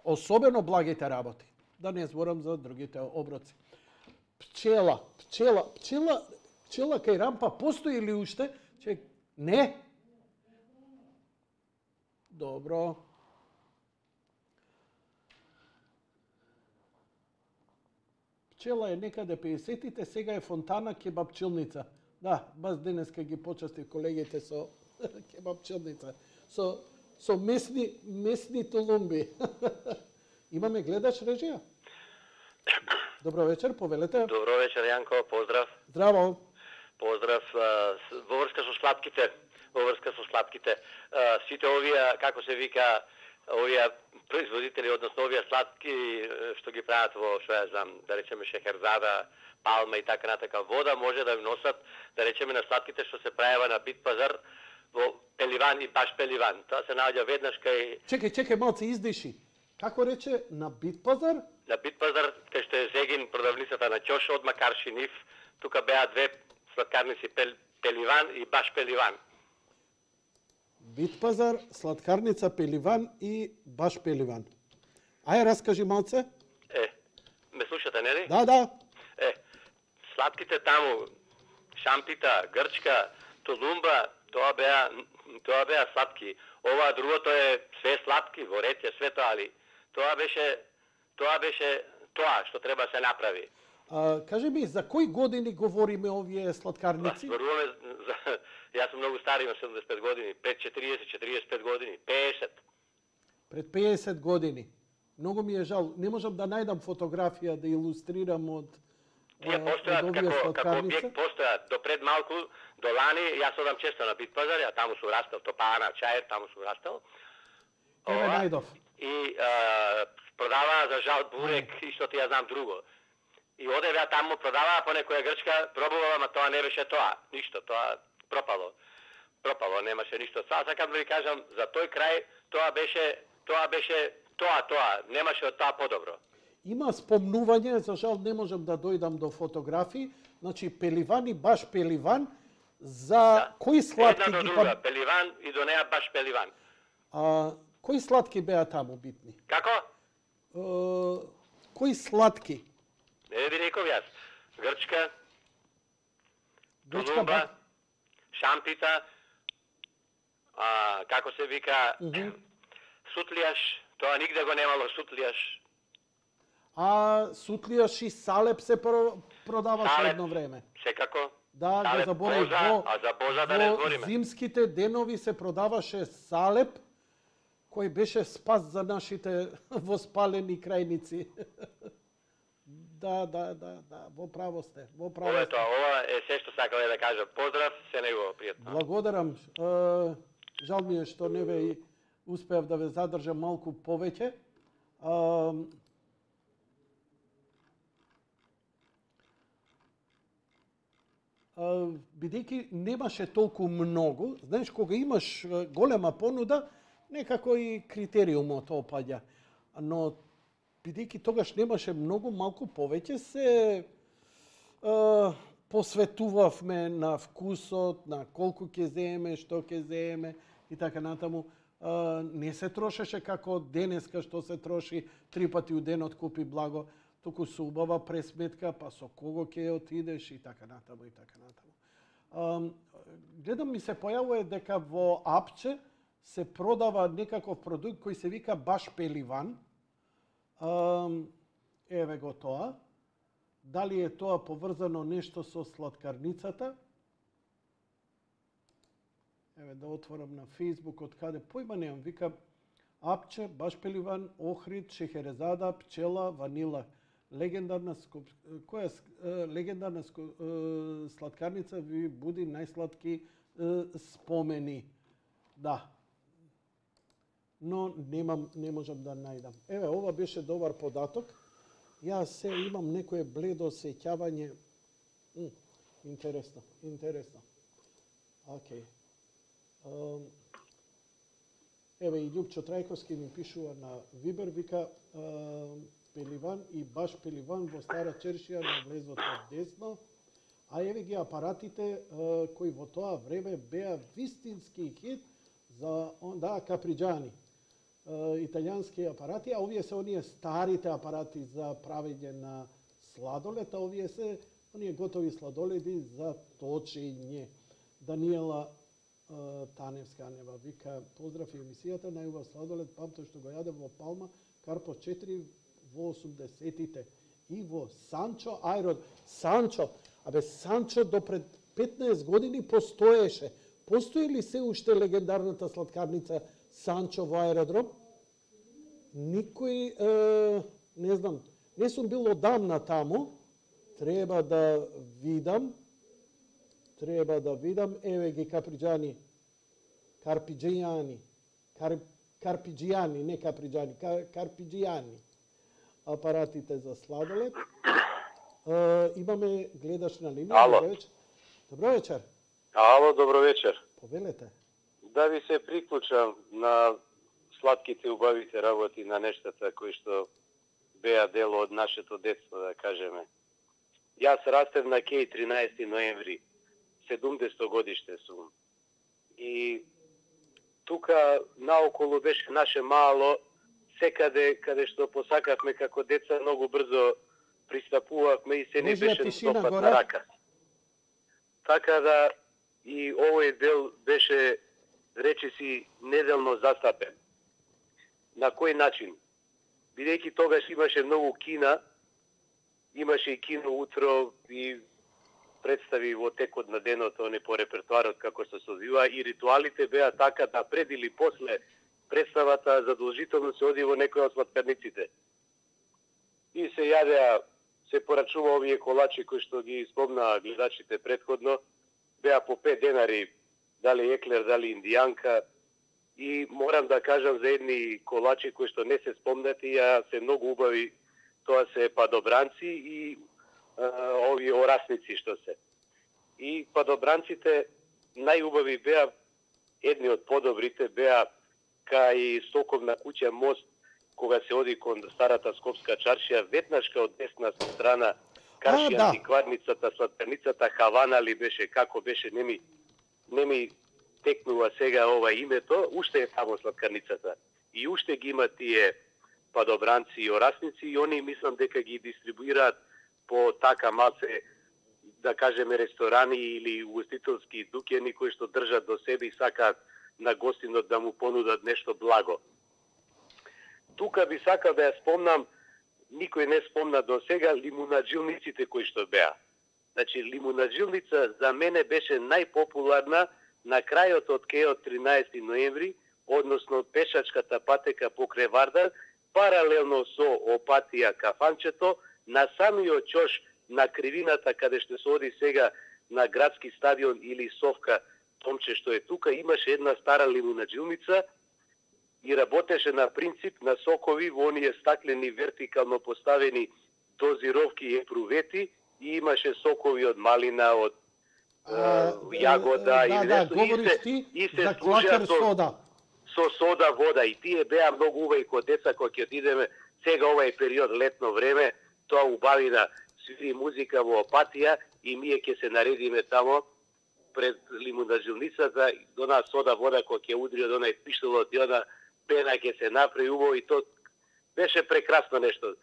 [SPEAKER 2] Особено благите работи. Да не зборам за другите оброци. Пчела, пчела, пчела, пчела кај рампа постои ли уште? Че, не. Добро. Пчела е некаде пеесетите, сега е фонтана кебапчилница. Да, баш денеска ги почастив колегите со кебапчилница. Со, со месни, месни тулумби. Имаме гледач режија? Добро вечер, повелете.
[SPEAKER 5] Добро вечер, Јанко, поздрав.
[SPEAKER 2] Здраво.
[SPEAKER 5] Поздрав во врска со сладките, во врска со сладките. Сите овие, како се вика, овие производители, односно овие сладки што ги прават во, што ја знам, да речеме Шехерзада, Палма и така натака, вода може да носат, да речеме на сладките што се правева на Бит пазар во Пеливан и баш Пеливан. Тоа се наоѓа веднаш кај...
[SPEAKER 2] Чекај, чекај, малце издиши. Како рече, на Бит пазар?
[SPEAKER 5] На Бит пазар, кај што е Зегин, продавницата на Ќош, од Макарши Нив, тука беа две сладкарници Пел, Пеливан и баш Пеливан.
[SPEAKER 2] Бит пазар, сладкарница Пеливан и баш Пеливан. Ај, раскажи малце.
[SPEAKER 5] Е, ме слушате, нели?
[SPEAKER 2] Да, да.
[SPEAKER 5] Е, сладките таму, Шампита, Грчка, Толумба, тоа беа, тоа беа сладки. Ова другото е све сладки, ворете, све тоа, али тоа беше, тоа беше тоа што треба се направи.
[SPEAKER 2] А, кажи ми, за кои години говориме овие сладкарници?
[SPEAKER 5] Зборуваме за... Јас сум многу стар, имам седумдесет и пет години, пред четириесет, четириесет и пет години, пеесет.
[SPEAKER 2] Пред пеесет години. Многу ми е жал. Не можам да најдам фотографија да илустрирам од
[SPEAKER 5] Тие постојат како, како објект, постојат до пред малку, до лани, јас одам често на Бит пазар, ја таму сум растал, Топана, Чаер, таму сум растал.
[SPEAKER 2] Еве најдов.
[SPEAKER 5] И а, продаваа за жал бурек и што ти ја знам друго. И одеве ја таму продаваа по некоја грчка, пробувала, ма тоа не беше тоа, ништо, тоа пропало. Пропало, немаше ништо. Сега сакам да ви кажам, за тој крај тоа беше, тоа беше тоа, тоа, немаше од тоа подобро.
[SPEAKER 2] Има спомнување, за жал не можам да дојдам до фотографии, значи Пеливан и баш Пеливан, за
[SPEAKER 5] Да.
[SPEAKER 2] кои сладки
[SPEAKER 5] Една до
[SPEAKER 2] ги
[SPEAKER 5] друга,
[SPEAKER 2] па...
[SPEAKER 5] Пеливан и до неа баш Пеливан.
[SPEAKER 2] А, кои сладки беа таму битни?
[SPEAKER 5] Како?
[SPEAKER 2] А, кои сладки?
[SPEAKER 5] Не ви реков јас. Грчка,
[SPEAKER 2] Грчка,
[SPEAKER 5] Толумба,
[SPEAKER 2] ба-
[SPEAKER 5] Шампита, а, како се вика,
[SPEAKER 2] Мгм.
[SPEAKER 5] сутлијаш, тоа нигде го немало сутлијаш.
[SPEAKER 2] А сутлијаш и салеп се про- продаваше
[SPEAKER 5] Салеп.
[SPEAKER 2] едно време.
[SPEAKER 5] Секако.
[SPEAKER 2] Да, го
[SPEAKER 5] Салеп,
[SPEAKER 2] заборав.
[SPEAKER 5] боза,
[SPEAKER 2] Во,
[SPEAKER 5] а за боза да не
[SPEAKER 2] во
[SPEAKER 5] збориме.
[SPEAKER 2] зимските денови се продаваше салеп, кој беше спас за нашите воспалени крајници. Да, да, да, да, во право сте, во право
[SPEAKER 5] Ова е
[SPEAKER 2] сте.
[SPEAKER 5] тоа, ова е се што сакале да кажа. Поздрав, се негово пријатно.
[SPEAKER 2] Благодарам. Е, жал ми е што не ве успеав да ве задржам малку повеќе. Е, бидејќи немаше толку многу, знаеш, кога имаш е, голема понуда, некако и критериумот опаѓа. Но бидејќи тогаш немаше многу, малку повеќе се е, посветувавме на вкусот, на колку ќе земе, што ќе земе и така натаму. Е, не се трошеше како денеска што се троши три пати у денот купи благо, туку со убава пресметка, па со кого ќе отидеш и така натаму и така натаму. Um, гледам ми се појавува дека во Апче се продава некаков продукт кој се вика баш Пеливан. Um, еве го тоа. Дали е тоа поврзано нешто со сладкарницата? Еве да отворам на Facebook од каде појма немам. Вика Апче, баш Пеливан, Охрид, Шехерезада, Пчела, Ванила. Легендарна скоп... која е, легендарна ско... е, сладкарница ви буди најсладки е, спомени. Да. Но немам, не можам да најдам. Еве, ова беше добар податок. Јас се имам некое бледо сеќавање. М, интересно, интересно. Океј. Okay. Еве и Љупчо Трајковски ми пишува на Вибер, вика Пеливан и баш Пеливан во Стара Чершија на влезот од десно, а еве ги апаратите кои во тоа време беа вистински хит за да Каприџани, италијански апарати, а овие се оние старите апарати за правење на сладолед, а овие се оние готови сладоледи за точење. Даниела Таневска нева вика поздрав и емисијата, најубав сладолед памтам што го јадев во Палма, Карпо четири во осумдесетите и во Санчо аерод. Санчо, абе Санчо до пред петнаесет години постоеше. Постои ли се уште легендарната сладкарница Санчо во аеродром? Никој, е, не знам, не сум бил одамна таму, треба да видам, треба да видам, еве ги Каприџани, Карпиџејани, Кар, карпиджијани, не каприджани, кар, карпиджијани апаратите за сладолед. Uh, имаме гледаш на линија.
[SPEAKER 6] Ало.
[SPEAKER 2] Добро вечер. Добро вечер.
[SPEAKER 6] Ало, добро вечер.
[SPEAKER 2] Повелете.
[SPEAKER 6] Да ви се приклучам на сладките убавите работи, на нештата кои што беа дел од нашето детство, да кажеме. Јас растев на Кеј тринаесети ноември, седумдесето годиште сум. И тука наоколу беше наше мало, секаде каде што посакавме како деца, многу брзо пристапувавме и се не
[SPEAKER 2] Можна
[SPEAKER 6] беше
[SPEAKER 2] тишина
[SPEAKER 6] допад
[SPEAKER 2] горе?
[SPEAKER 6] на рака. Така да и овој дел беше, речиси, неделно застапен. На кој начин? Бидејќи тогаш имаше многу кина, имаше и кино утро и представи во текот на денот, оне по репертуарот како што се одвива, и ритуалите беа така да пред или после представата задолжително се оди во некој од сладкарниците. И се јадеа, се порачува овие колачи кои што ги спомнаа гледачите предходно, беа по пет денари, дали еклер, дали индијанка, и морам да кажам за едни колачи кои што не се спомнати, а се многу убави, тоа се падобранци и а, овие орасници што се. И падобранците најубави беа, едни од подобрите беа кај Соковна куќа мост, кога се оди кон старата Скопска чаршија, веднашка од десна страна, Каршија,
[SPEAKER 2] да.
[SPEAKER 6] антикварницата, сладкарницата Хавана ли беше, како беше, не ми, не ми текнува сега ова името, уште е тамо сладкарницата. И уште ги има тие падобранци и орасници и они мислам дека ги дистрибуираат по така малце, да кажеме, ресторани или угостителски дуќани кои што држат до себе и сакаат на гостинот да му понудат нешто благо. Тука би сакал да ја спомнам, никој не спомна до сега, лимунаджилниците кои што беа. Значи, лимунаджилница за мене беше најпопуларна на крајот од кејот тринаесети ноември, односно пешачката патека покрај Вардар, паралелно со Опатија кафанчето, на самиот чош на кривината каде што се оди сега на градски стадион или Совка Томче што е тука, имаше една стара лимунаджилница и работеше на принцип на сокови во оние стаклени вертикално поставени дозировки и епрувети и имаше сокови од малина, од
[SPEAKER 2] А,
[SPEAKER 6] јагода
[SPEAKER 2] да,
[SPEAKER 6] или
[SPEAKER 2] да,
[SPEAKER 6] нешто.
[SPEAKER 2] говориш
[SPEAKER 6] И се,
[SPEAKER 2] ти
[SPEAKER 6] и се
[SPEAKER 2] за
[SPEAKER 6] служеа
[SPEAKER 2] клакер
[SPEAKER 6] со,
[SPEAKER 2] сода.
[SPEAKER 6] со сода вода и тие беа многу убави кога деца кога ќе отидеме сега овај период летно време, тоа убавина свири музика во Опатија и ние ќе се наредиме тамо пред лимунаджилницата, она сода вода кога ќе удри од онај пиштолот и она пена ќе се направи убаво и то беше прекрасно нешто.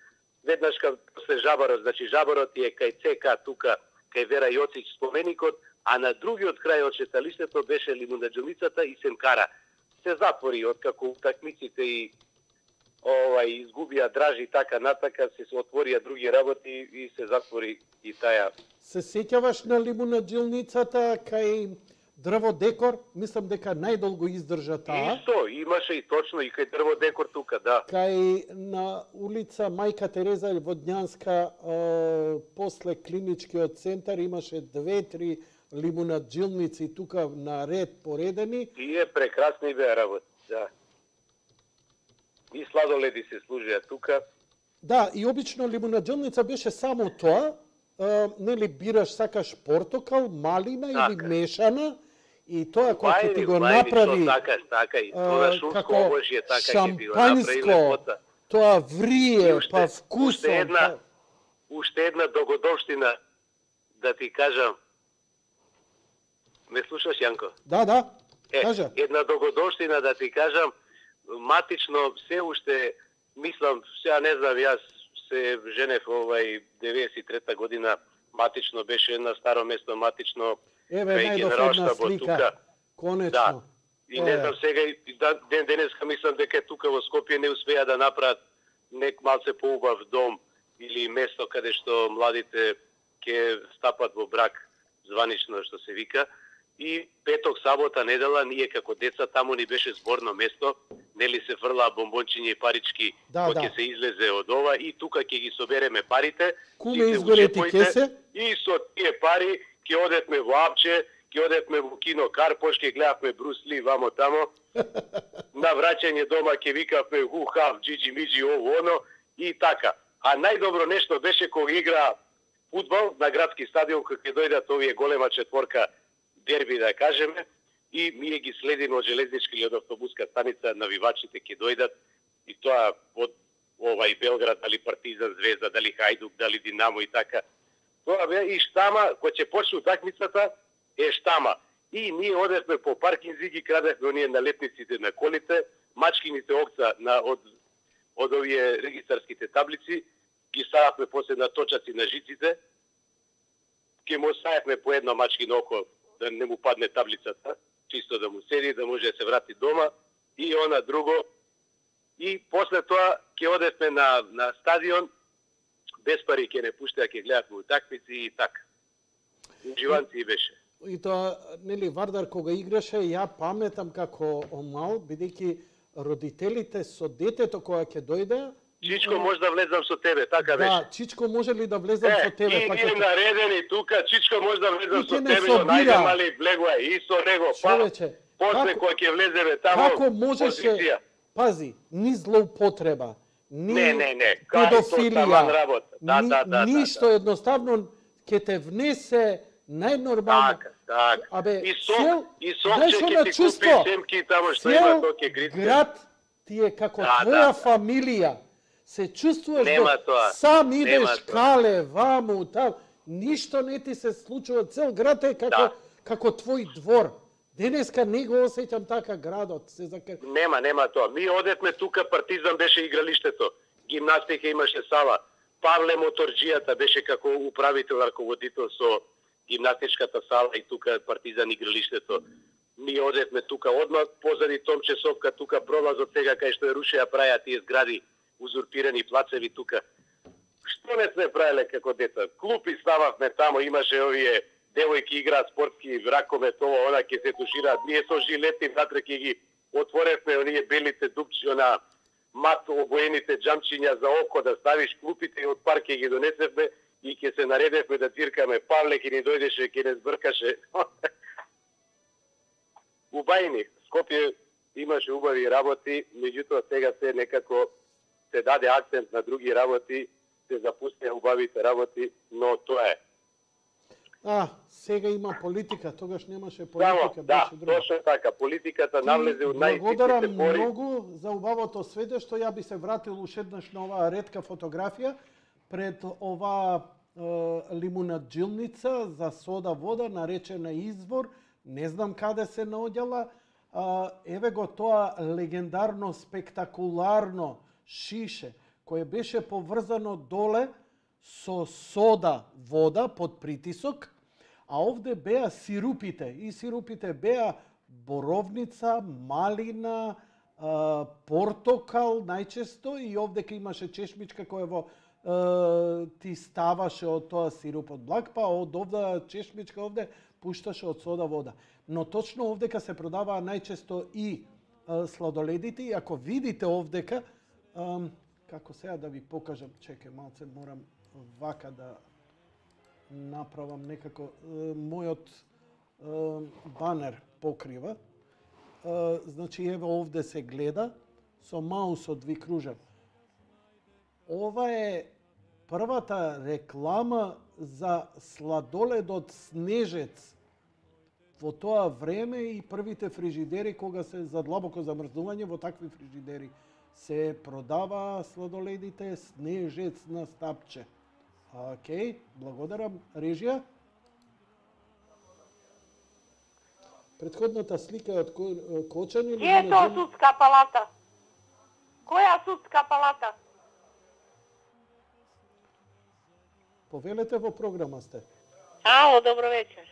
[SPEAKER 6] Веднаш кога после Жабарот, значи Жабарот е кај ЦК тука, кај Вера Јоцич споменикот, а на другиот крај од шеталиштето беше лимунаджилницата и Семкара. Се затвори откако утакмиците и ова изгубија дражи така натака, се отворија други работи и се затвори и таја.
[SPEAKER 2] Се сеќаваш на лимунаджилницата кај дрво декор? Мислам дека најдолго издржа таа.
[SPEAKER 6] Исто, имаше и точно и кај дрво декор тука, да.
[SPEAKER 2] Кај на улица Мајка Тереза Водњанска, е, после клиничкиот центар, имаше две-три лимунаджилници тука на ред поредени.
[SPEAKER 6] Тие прекрасни беа работи, да. И сладоледи се служеа тука.
[SPEAKER 2] Да, и обично лимунаджилница беше само тоа, е, нели бираш, сакаш портокал, малина или
[SPEAKER 6] Така.
[SPEAKER 2] мешана, и тоа кога ќе ти го
[SPEAKER 6] Бајни,
[SPEAKER 2] направи
[SPEAKER 6] што така, така и тоа шумско обожје така ќе ти го
[SPEAKER 2] шампанско,
[SPEAKER 6] направи лепота.
[SPEAKER 2] тоа врие,
[SPEAKER 6] уште-
[SPEAKER 2] па вкусон.
[SPEAKER 6] уште една-
[SPEAKER 2] па...
[SPEAKER 6] Уште една догодовштина да ти кажам. Ме слушаш, Јанко?
[SPEAKER 2] Да, да,
[SPEAKER 6] Е,
[SPEAKER 2] кажа.
[SPEAKER 6] една догодовштина да ти кажам, матично се уште, мислам, сега не знам, јас се женев овај деветдесет и трета година, матично беше на старо место, матично
[SPEAKER 2] Еве
[SPEAKER 6] кај
[SPEAKER 2] најдов
[SPEAKER 6] Генералштабот
[SPEAKER 2] една слика.
[SPEAKER 6] тука.
[SPEAKER 2] Конечно.
[SPEAKER 6] Да. И не
[SPEAKER 2] Е.
[SPEAKER 6] знам сега и да- ден денеска мислам дека тука во Скопје не успеа да направат нек малце поубав дом или место каде што младите ќе стапат во брак званично што се вика. И петок, сабота, недела, ние како деца таму ни беше зборно место, нели се фрлаа бомбончиња и парички
[SPEAKER 2] Да,
[SPEAKER 6] кои
[SPEAKER 2] да.
[SPEAKER 6] ќе се излезе од ова и тука ќе ги собереме парите.
[SPEAKER 2] Куме,
[SPEAKER 6] сите
[SPEAKER 2] изгоре ти
[SPEAKER 6] учепоите,
[SPEAKER 2] кесе?
[SPEAKER 6] И со тие пари ќе одетме во Апче ќе одевме во кино Карпош, ќе гледавме Брус Ли вамо тамо. На враќање дома ќе викавме ху-хав, джиджи миджи, ово оно и така. А најдобро нешто беше кога игра фудбал на градски стадион, кога ќе дојдат овие голема четворка дерби, да кажеме, и ние ги следиме од железничка или од автобуска станица, навивачите ќе дојдат, и тоа од овај Белград, дали Партизан, Звезда, дали Хајдук, дали Динамо и така. Тоа бе и штама, кој ќе почне утакмицата, е штама. И ние одевме по паркинзи, ги крадевме оние налетниците на колите, мачкините окца на, од, од овие регистарските таблици, ги стававме после на точаци на жиците, ке му ставевме по едно мачкино око, да не му падне таблицата, чисто да му седи, да може да се врати дома, и она друго. И после тоа ќе одевме на, на стадион, без пари ќе не пуштеа, ќе гледавме утакмици и така. Уживанци беше.
[SPEAKER 2] И тоа, нели, Вардар кога играше, ја паметам како омал, бидејќи родителите со детето кога ќе дојде,
[SPEAKER 6] Чичко, може да влезам со тебе, така беше.
[SPEAKER 2] Да, Чичко, може ли да влезам
[SPEAKER 6] е,
[SPEAKER 2] со тебе?
[SPEAKER 6] И
[SPEAKER 2] па
[SPEAKER 6] ние
[SPEAKER 2] ќе...
[SPEAKER 6] наредени тука, Чичко може да влезам
[SPEAKER 2] И
[SPEAKER 6] со
[SPEAKER 2] ќе не
[SPEAKER 6] тебе,
[SPEAKER 2] собира.
[SPEAKER 6] но најде мали влегува и со него, па,
[SPEAKER 2] Човече,
[SPEAKER 6] после
[SPEAKER 2] како-
[SPEAKER 6] кој ќе влеземе тамо,
[SPEAKER 2] Како можеше,
[SPEAKER 6] позиција.
[SPEAKER 2] пази, ни злоупотреба, ни
[SPEAKER 6] Не, не, не, кај тоа таман
[SPEAKER 2] педофилија,
[SPEAKER 6] работа. Да,
[SPEAKER 2] ни,
[SPEAKER 6] да, да,
[SPEAKER 2] ништо,
[SPEAKER 6] да, да.
[SPEAKER 2] едноставно ќе те внесе најнормално.
[SPEAKER 6] Така, така.
[SPEAKER 2] Абе,
[SPEAKER 6] И сок,
[SPEAKER 2] цел-
[SPEAKER 6] и сок
[SPEAKER 2] знаеш
[SPEAKER 6] ќе
[SPEAKER 2] она
[SPEAKER 6] ти
[SPEAKER 2] чувство,
[SPEAKER 6] купи семки тамо што има,
[SPEAKER 2] цел
[SPEAKER 6] тоа ќе гритне.
[SPEAKER 2] град ти е како
[SPEAKER 6] Да,
[SPEAKER 2] твоја
[SPEAKER 6] да.
[SPEAKER 2] фамилија. Се чувствуваш
[SPEAKER 6] Нема
[SPEAKER 2] да
[SPEAKER 6] тоа,
[SPEAKER 2] сам
[SPEAKER 6] нема
[SPEAKER 2] идеш
[SPEAKER 6] тоа.
[SPEAKER 2] кале, ваму, там, ништо не ти се случува, цел град е како,
[SPEAKER 6] Да.
[SPEAKER 2] како твој двор. Денеска не го осеќам така градот, се закр...
[SPEAKER 6] Нема, нема тоа. Ми одевме тука, Партизан беше игралиштето. Гимнастика имаше сала. Павле Моторџијата беше како управител, раководител со гимнастичката сала и тука Партизан игралиштето. Ми одевме тука одмah позади Томче Совка, тука пролазот сега кај што е рушеа праја тие згради, узурпирани плацеви тука. Што не сме правеле како деца? Клупи стававме тамо, имаше овие девојки играат спортски ракомет, ова, она ќе се тушираат. Ние со жилети внатре ќе ги отворевме оние белите дупчи, она мат обоените джамчиња за око да ставиш клупите и од парк ќе ги донесевме и ќе се наредевме да циркаме. Павле ќе ни дојдеше, ќе не збркаше. Убајни. Скопје имаше убави работи, меѓутоа сега се некако се даде акцент на други работи, се запустија убавите работи, но тоа е.
[SPEAKER 2] А, сега има политика, тогаш немаше
[SPEAKER 6] Само,
[SPEAKER 2] политика,
[SPEAKER 6] да,
[SPEAKER 2] беше друго.
[SPEAKER 6] точно така. Политиката навлезе од
[SPEAKER 2] Благодарам
[SPEAKER 6] најситните пори.
[SPEAKER 2] многу за убавото сведоштво, што ја би се вратил уште еднаш на оваа ретка фотографија пред оваа е, лимунаджилница за сода вода наречена Извор. Не знам каде се наоѓала. А, еве го тоа легендарно, спектакуларно шише, кое беше поврзано доле со сода вода под притисок, а овде беа сирупите. И сирупите беа боровница, малина, а, портокал најчесто, и овдека имаше чешмичка која во а, ти ставаше од тоа сируп од благ, па од овда чешмичка овде пушташе од сода вода. Но точно овдека се продаваа најчесто и а, сладоледите, и ако видите овдека, а, како сега да ви покажам, чекај малце, морам вака да направам некако, е, мојот е, банер покрива. Е, значи, еве овде се гледа, со маусот ви кружам. Ова е првата реклама за сладоледот Снежец во тоа време и првите фрижидери кога се за длабоко замрзнување, во такви фрижидери се продава сладоледите Снежец на стапче. Океј, благодарам. Режија? Предходната слика е од Ко- Кочан или...
[SPEAKER 7] Е тоа судска палата? Која судска палата?
[SPEAKER 2] Повелете, во програма сте.
[SPEAKER 7] Ало, добро вечер.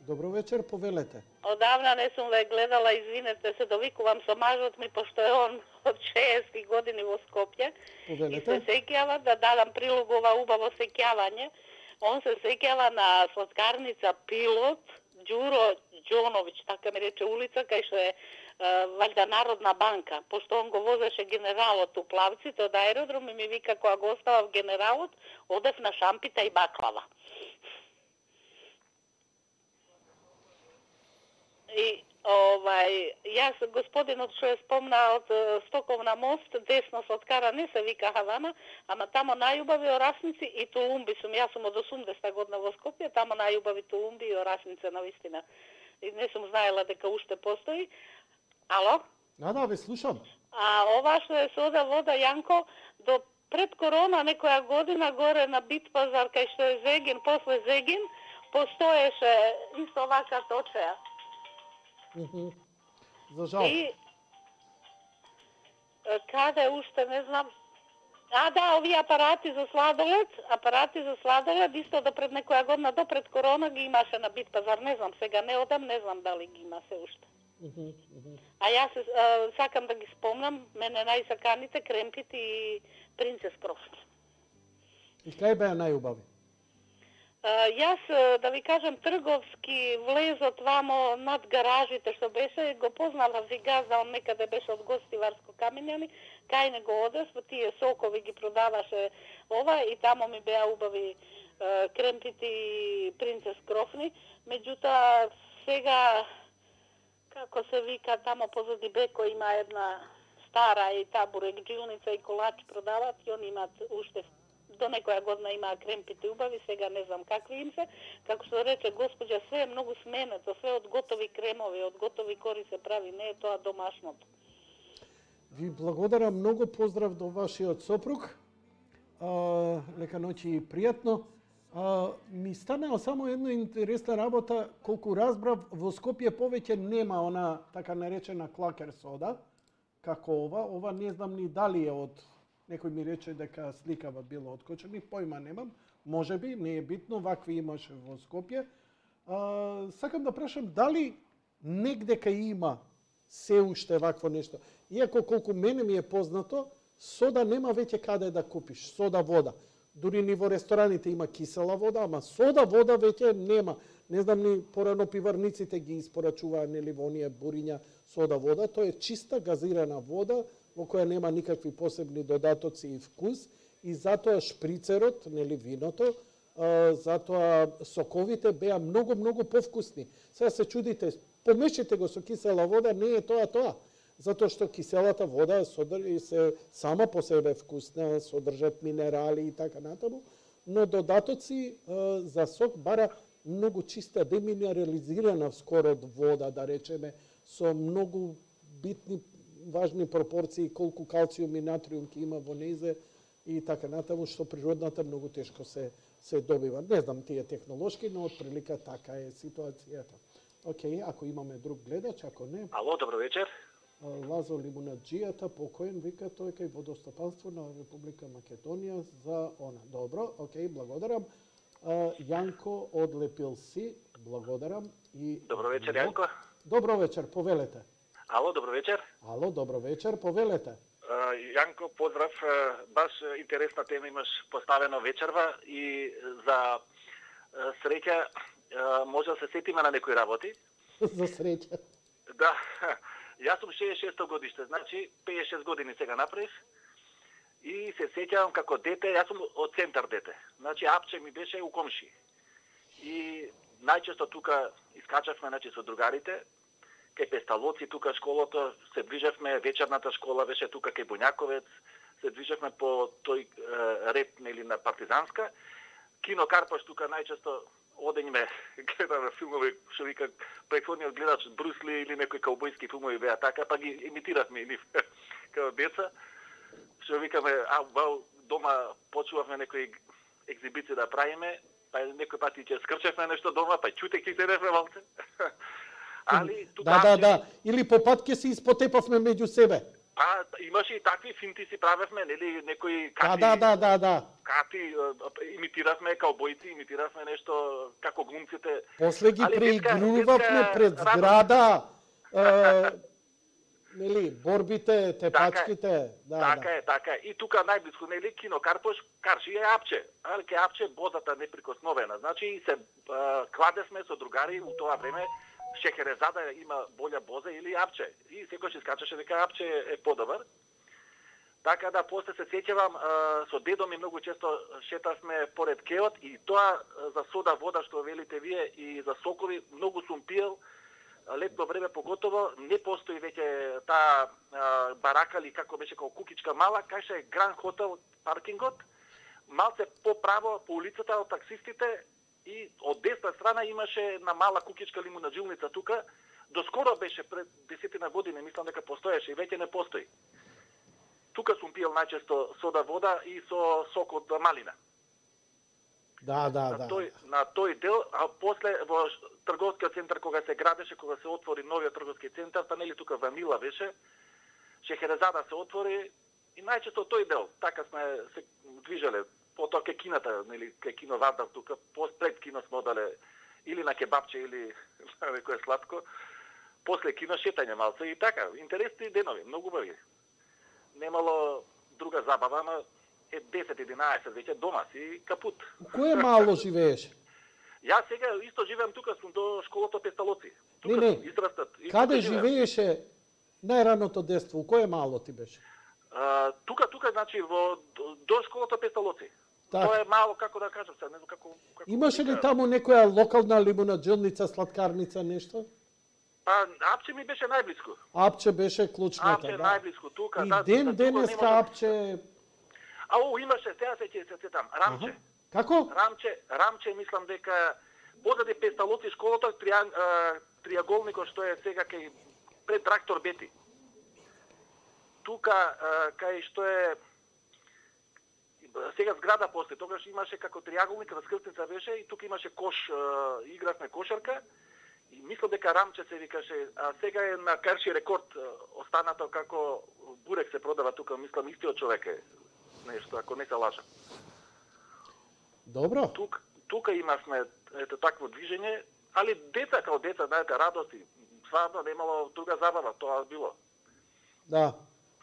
[SPEAKER 2] Добро вечер, повелете.
[SPEAKER 7] Одавна не сум ве гледала, извинете се, довикувам со мажот ми, пошто е он од шеесет години во Скопје. И се
[SPEAKER 2] Повелете.
[SPEAKER 7] сеќава да дадам прилог ова убаво сеќавање. Он се сеќава на сладкарница Пилот, Ѓуро Ѓоновиќ, така ми рече улица, кај што е валјда Народна банка, пошто он го возеше генералот у плавците од аеродром и ми вика кога го оставав генералот, одев на шампита и баклава. И овај, јас господинот што е спомна од Стоковна мост, десно сладкара не се вика Хавана, ама тамо најубави орасници и тулумби сум. Јас сум од осумдесета година во Скопје, тамо најубави тулумби и орасници на вистина. И не сум знаела дека уште постои. Ало?
[SPEAKER 2] Да, да, ве слушам.
[SPEAKER 7] А ова што е сода вода, Јанко, до пред корона некоја година горе на Бит пазар, кај што е Зегин, после Зегин, постоеше исто овака точеја.
[SPEAKER 2] Mm-hmm. За жал.
[SPEAKER 7] И каде уште не знам. А да, овие апарати за сладолед, апарати за сладолед исто до пред некоја година, до пред корона ги имаше на Бит пазар, не знам, сега не одам, не знам дали ги има се уште.
[SPEAKER 2] Mm-hmm. Mm-hmm.
[SPEAKER 7] А јас а, сакам да ги спомнам, мене најсаканите кремпити и принцес крофни.
[SPEAKER 2] И кај беа најубави?
[SPEAKER 7] Uh, јас, да ви кажем, трговски влезот вамо над гаражите што беше, го познала Вигаза, он некаде беше од Гостиварско Камењани, кај него одев, тие сокови ги продаваше ова и тамо ми беа убави uh, кремпити и принцес крофни. Меѓутоа, сега, како се вика, тамо позади Беко има една стара и табурек джилница и колач продават и они имаат уште до некоја година имаа кремпите убави, сега не знам какви им се. Како што рече господја, све е многу сменето, све од готови кремови, од готови кори се прави, не е тоа домашното.
[SPEAKER 2] Ви благодарам многу, поздрав до вашиот сопруг. А, лека ноќи и пријатно. А, ми станаа само една интересна работа, колку разбрав, во Скопје повеќе нема она така наречена клакер сода, како ова. Ова не знам ни дали е од... Некој ми рече дека сликава било откочени, појма немам. Може би, не е битно, вакви имаше во Скопје. А, сакам да прашам, дали негде кај има се уште вакво нешто? Иако колку мене ми е познато, сода нема веќе каде да купиш, сода вода. Дури ни во рестораните има кисела вода, ама сода вода веќе нема. Не знам ни порано пиварниците ги испорачуваа нели во оние буриња сода вода, тоа е чиста газирана вода во која нема никакви посебни додатоци и вкус и затоа шприцерот, нели виното, а, затоа соковите беа многу многу повкусни. Сега се чудите, помешите го со кисела вода, не е тоа тоа. Затоа што киселата вода содржи се сама по себе вкусна, содржат минерали и така натаму, но додатоци а, за сок бара многу чиста, деминерализирана скоро од вода, да речеме, со многу битни важни пропорции, колку калциум и натриум ќе има во нејзе и така натаму, што природната многу тешко се се добива. Не знам тие технолошки, но отприлика така е ситуацијата. Океј, ако имаме друг гледач, ако не...
[SPEAKER 8] Ало, добро вечер.
[SPEAKER 2] Лазо Лимунаджијата, покоен, вика тој кај водостопанство на Република Македонија за она. Добро, океј, благодарам. Јанко од Лепилси, благодарам. И...
[SPEAKER 8] Добро вечер, Јанко.
[SPEAKER 2] Добро вечер, повелете.
[SPEAKER 8] Ало, добро вечер.
[SPEAKER 2] Ало, добро вечер, повелете.
[SPEAKER 8] Uh, Јанко, поздрав. Uh, баш интересна тема имаш поставено вечерва и за uh, среќа uh, може да се сетиме на некои работи.
[SPEAKER 2] За среќа.
[SPEAKER 8] Да. Јас сум шеесет и шесто годиште, значи петдесет и шест години сега направив. И се сеќавам како дете, јас сум од центар дете. Значи апче ми беше у комши. И најчесто тука искачавме, значи со другарите. Кај Песталоци, тука школото, се движевме, вечерната школа беше тука кај Боњаковец, се движевме по тој е, ред нели на Партизанска. Кино Карпаш тука најчесто одењме, гледаме филмови, што вика претходниот гледач Брус Ли или некои каубојски филмови беа така, па ги имитиравме и нив како деца. Што викаме, а бау, дома почувавме некои екзибиции да правиме, па некој пати ќе скрчевме нешто дома, па чутејќи седевме малце. Али тука
[SPEAKER 2] да, да, да. Или по пат ќе се испотепавме меѓу себе.
[SPEAKER 8] Па имаше и такви финти си правевме, нели, некои кати.
[SPEAKER 2] Да, да, да, да.
[SPEAKER 8] Кати имитиравме каубојци, имитиравме нешто како глумците.
[SPEAKER 2] После ги преигрувавме пред зграда. Е, нели, борбите, тепачките. Да,
[SPEAKER 8] така е, така е. И тука најблиску, нели, Кино Карпош, Карши е апче. Али ке апче бозата неприкосновена. Значи се а, кладесме со другари у тоа време. Шехерезада има болја боза или апче. И секој ќе скачаше дека апче е подобар. Така да, после се сеќавам, со дедо ми многу често шетавме поред кеот и тоа за сода вода што велите вие и за сокови многу сум пиел. летно време поготово не постои веќе таа а, барака или како беше како кукичка мала, кај е Гранд Хотел паркингот, малце поправо по улицата од таксистите и од десна страна имаше една мала кукичка лимунаджилница тука. Доскоро беше пред десетина години, мислам дека постоеше и веќе не постои. Тука сум пиел најчесто сода вода и со сок од малина.
[SPEAKER 2] Да, да,
[SPEAKER 8] на
[SPEAKER 2] да.
[SPEAKER 8] Тој, на тој дел, а после во трговскиот центар кога се градеше, кога се отвори новиот трговски центар, па нели тука Ванила беше, Шехерезада се отвори и најчесто тој дел. Така сме се движеле. Потоа ке кината, нели ке кино Вардар тука, пред кино сме одале или на кебапче или на некое сладко. После кино шетање малце и така, интересни денови, многу убави. Немало друга забава, ама е десет единаесет веќе дома си капут.
[SPEAKER 2] Кое мало живееш?
[SPEAKER 8] Јас сега исто живеам тука, сум до школата Песталоци. Тука
[SPEAKER 2] Не, не.
[SPEAKER 8] сум израстат. И
[SPEAKER 2] Каде
[SPEAKER 8] тука живеам.
[SPEAKER 2] живееше најраното детство? У кое мало ти беше?
[SPEAKER 8] А, тука, тука, значи, во, до, до школата Песталоци.
[SPEAKER 2] Так.
[SPEAKER 8] Тоа е мало, како да кажам сега, не знам како... како
[SPEAKER 2] Имаше ли
[SPEAKER 8] вика.
[SPEAKER 2] таму некоја локална лимунаджилница, сладкарница, нешто?
[SPEAKER 8] Па, Апче ми беше најблиску.
[SPEAKER 2] Апче беше клучната,
[SPEAKER 8] Апче
[SPEAKER 2] да.
[SPEAKER 8] најблиску тука.
[SPEAKER 2] И
[SPEAKER 8] да,
[SPEAKER 2] ден
[SPEAKER 8] тука
[SPEAKER 2] денеска
[SPEAKER 8] не може-
[SPEAKER 2] Апче...
[SPEAKER 8] Ау, имаше, сега се ќе се сетам, Рамче.
[SPEAKER 2] Аха. Како?
[SPEAKER 8] Рамче, Рамче, мислам дека позади Песталоци школата, трија, а, триаголникот што е сега кај пред трактор Бети. Тука, а, кај што е сега зграда после, тогаш имаше како триаголник, раскрстница беше и тука имаше кош, а, игравме кошарка и мислам дека Рамче се викаше, а сега е на Карши рекорд а, останато како бурек се продава тука, мислам истиот човек е нешто, ако не се лажам.
[SPEAKER 2] Добро.
[SPEAKER 8] Тук, тука имавме ето такво движење, али деца као деца, знаете, радости, стварно немало друга забава, тоа било.
[SPEAKER 2] Да.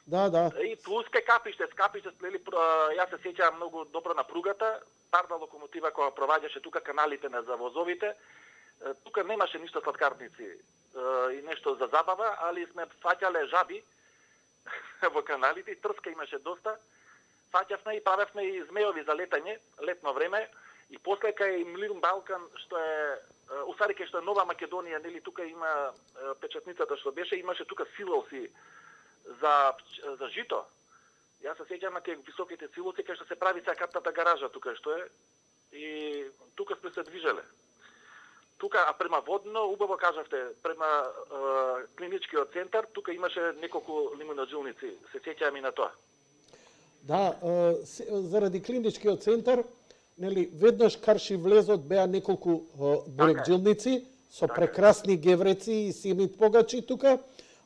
[SPEAKER 2] Да, да.
[SPEAKER 8] И плюс кај капиште, скапиште, нели, про- јас се сеќавам многу добро на пругата, парна локомотива која проваѓаше тука каналите на за возовите. Е, Тука немаше ништо сладкарници е, и нешто за забава, али сме фаќале жаби во каналите, и трска имаше доста. Фаќавме и правевме и змеови за летање, летно време, и после кај Млин Балкан, што е Усарике, што е Нова Македонија, нели тука има е, печатницата што беше, имаше тука силоси за за жито. Јас се сеќавам на тие високите силоси кај што се прави сакатната гаража тука што е, и тука сме се движеле. Тука, а према Водно, убаво кажавте, према е, клиничкиот центар, тука имаше неколку лимунаджилници, се сеќавам и на тоа.
[SPEAKER 2] Да, е, се- заради клиничкиот центар, нели, веднаш Карши влезот беа неколку е, бурекджилници со прекрасни гевреци и симит погачи тука,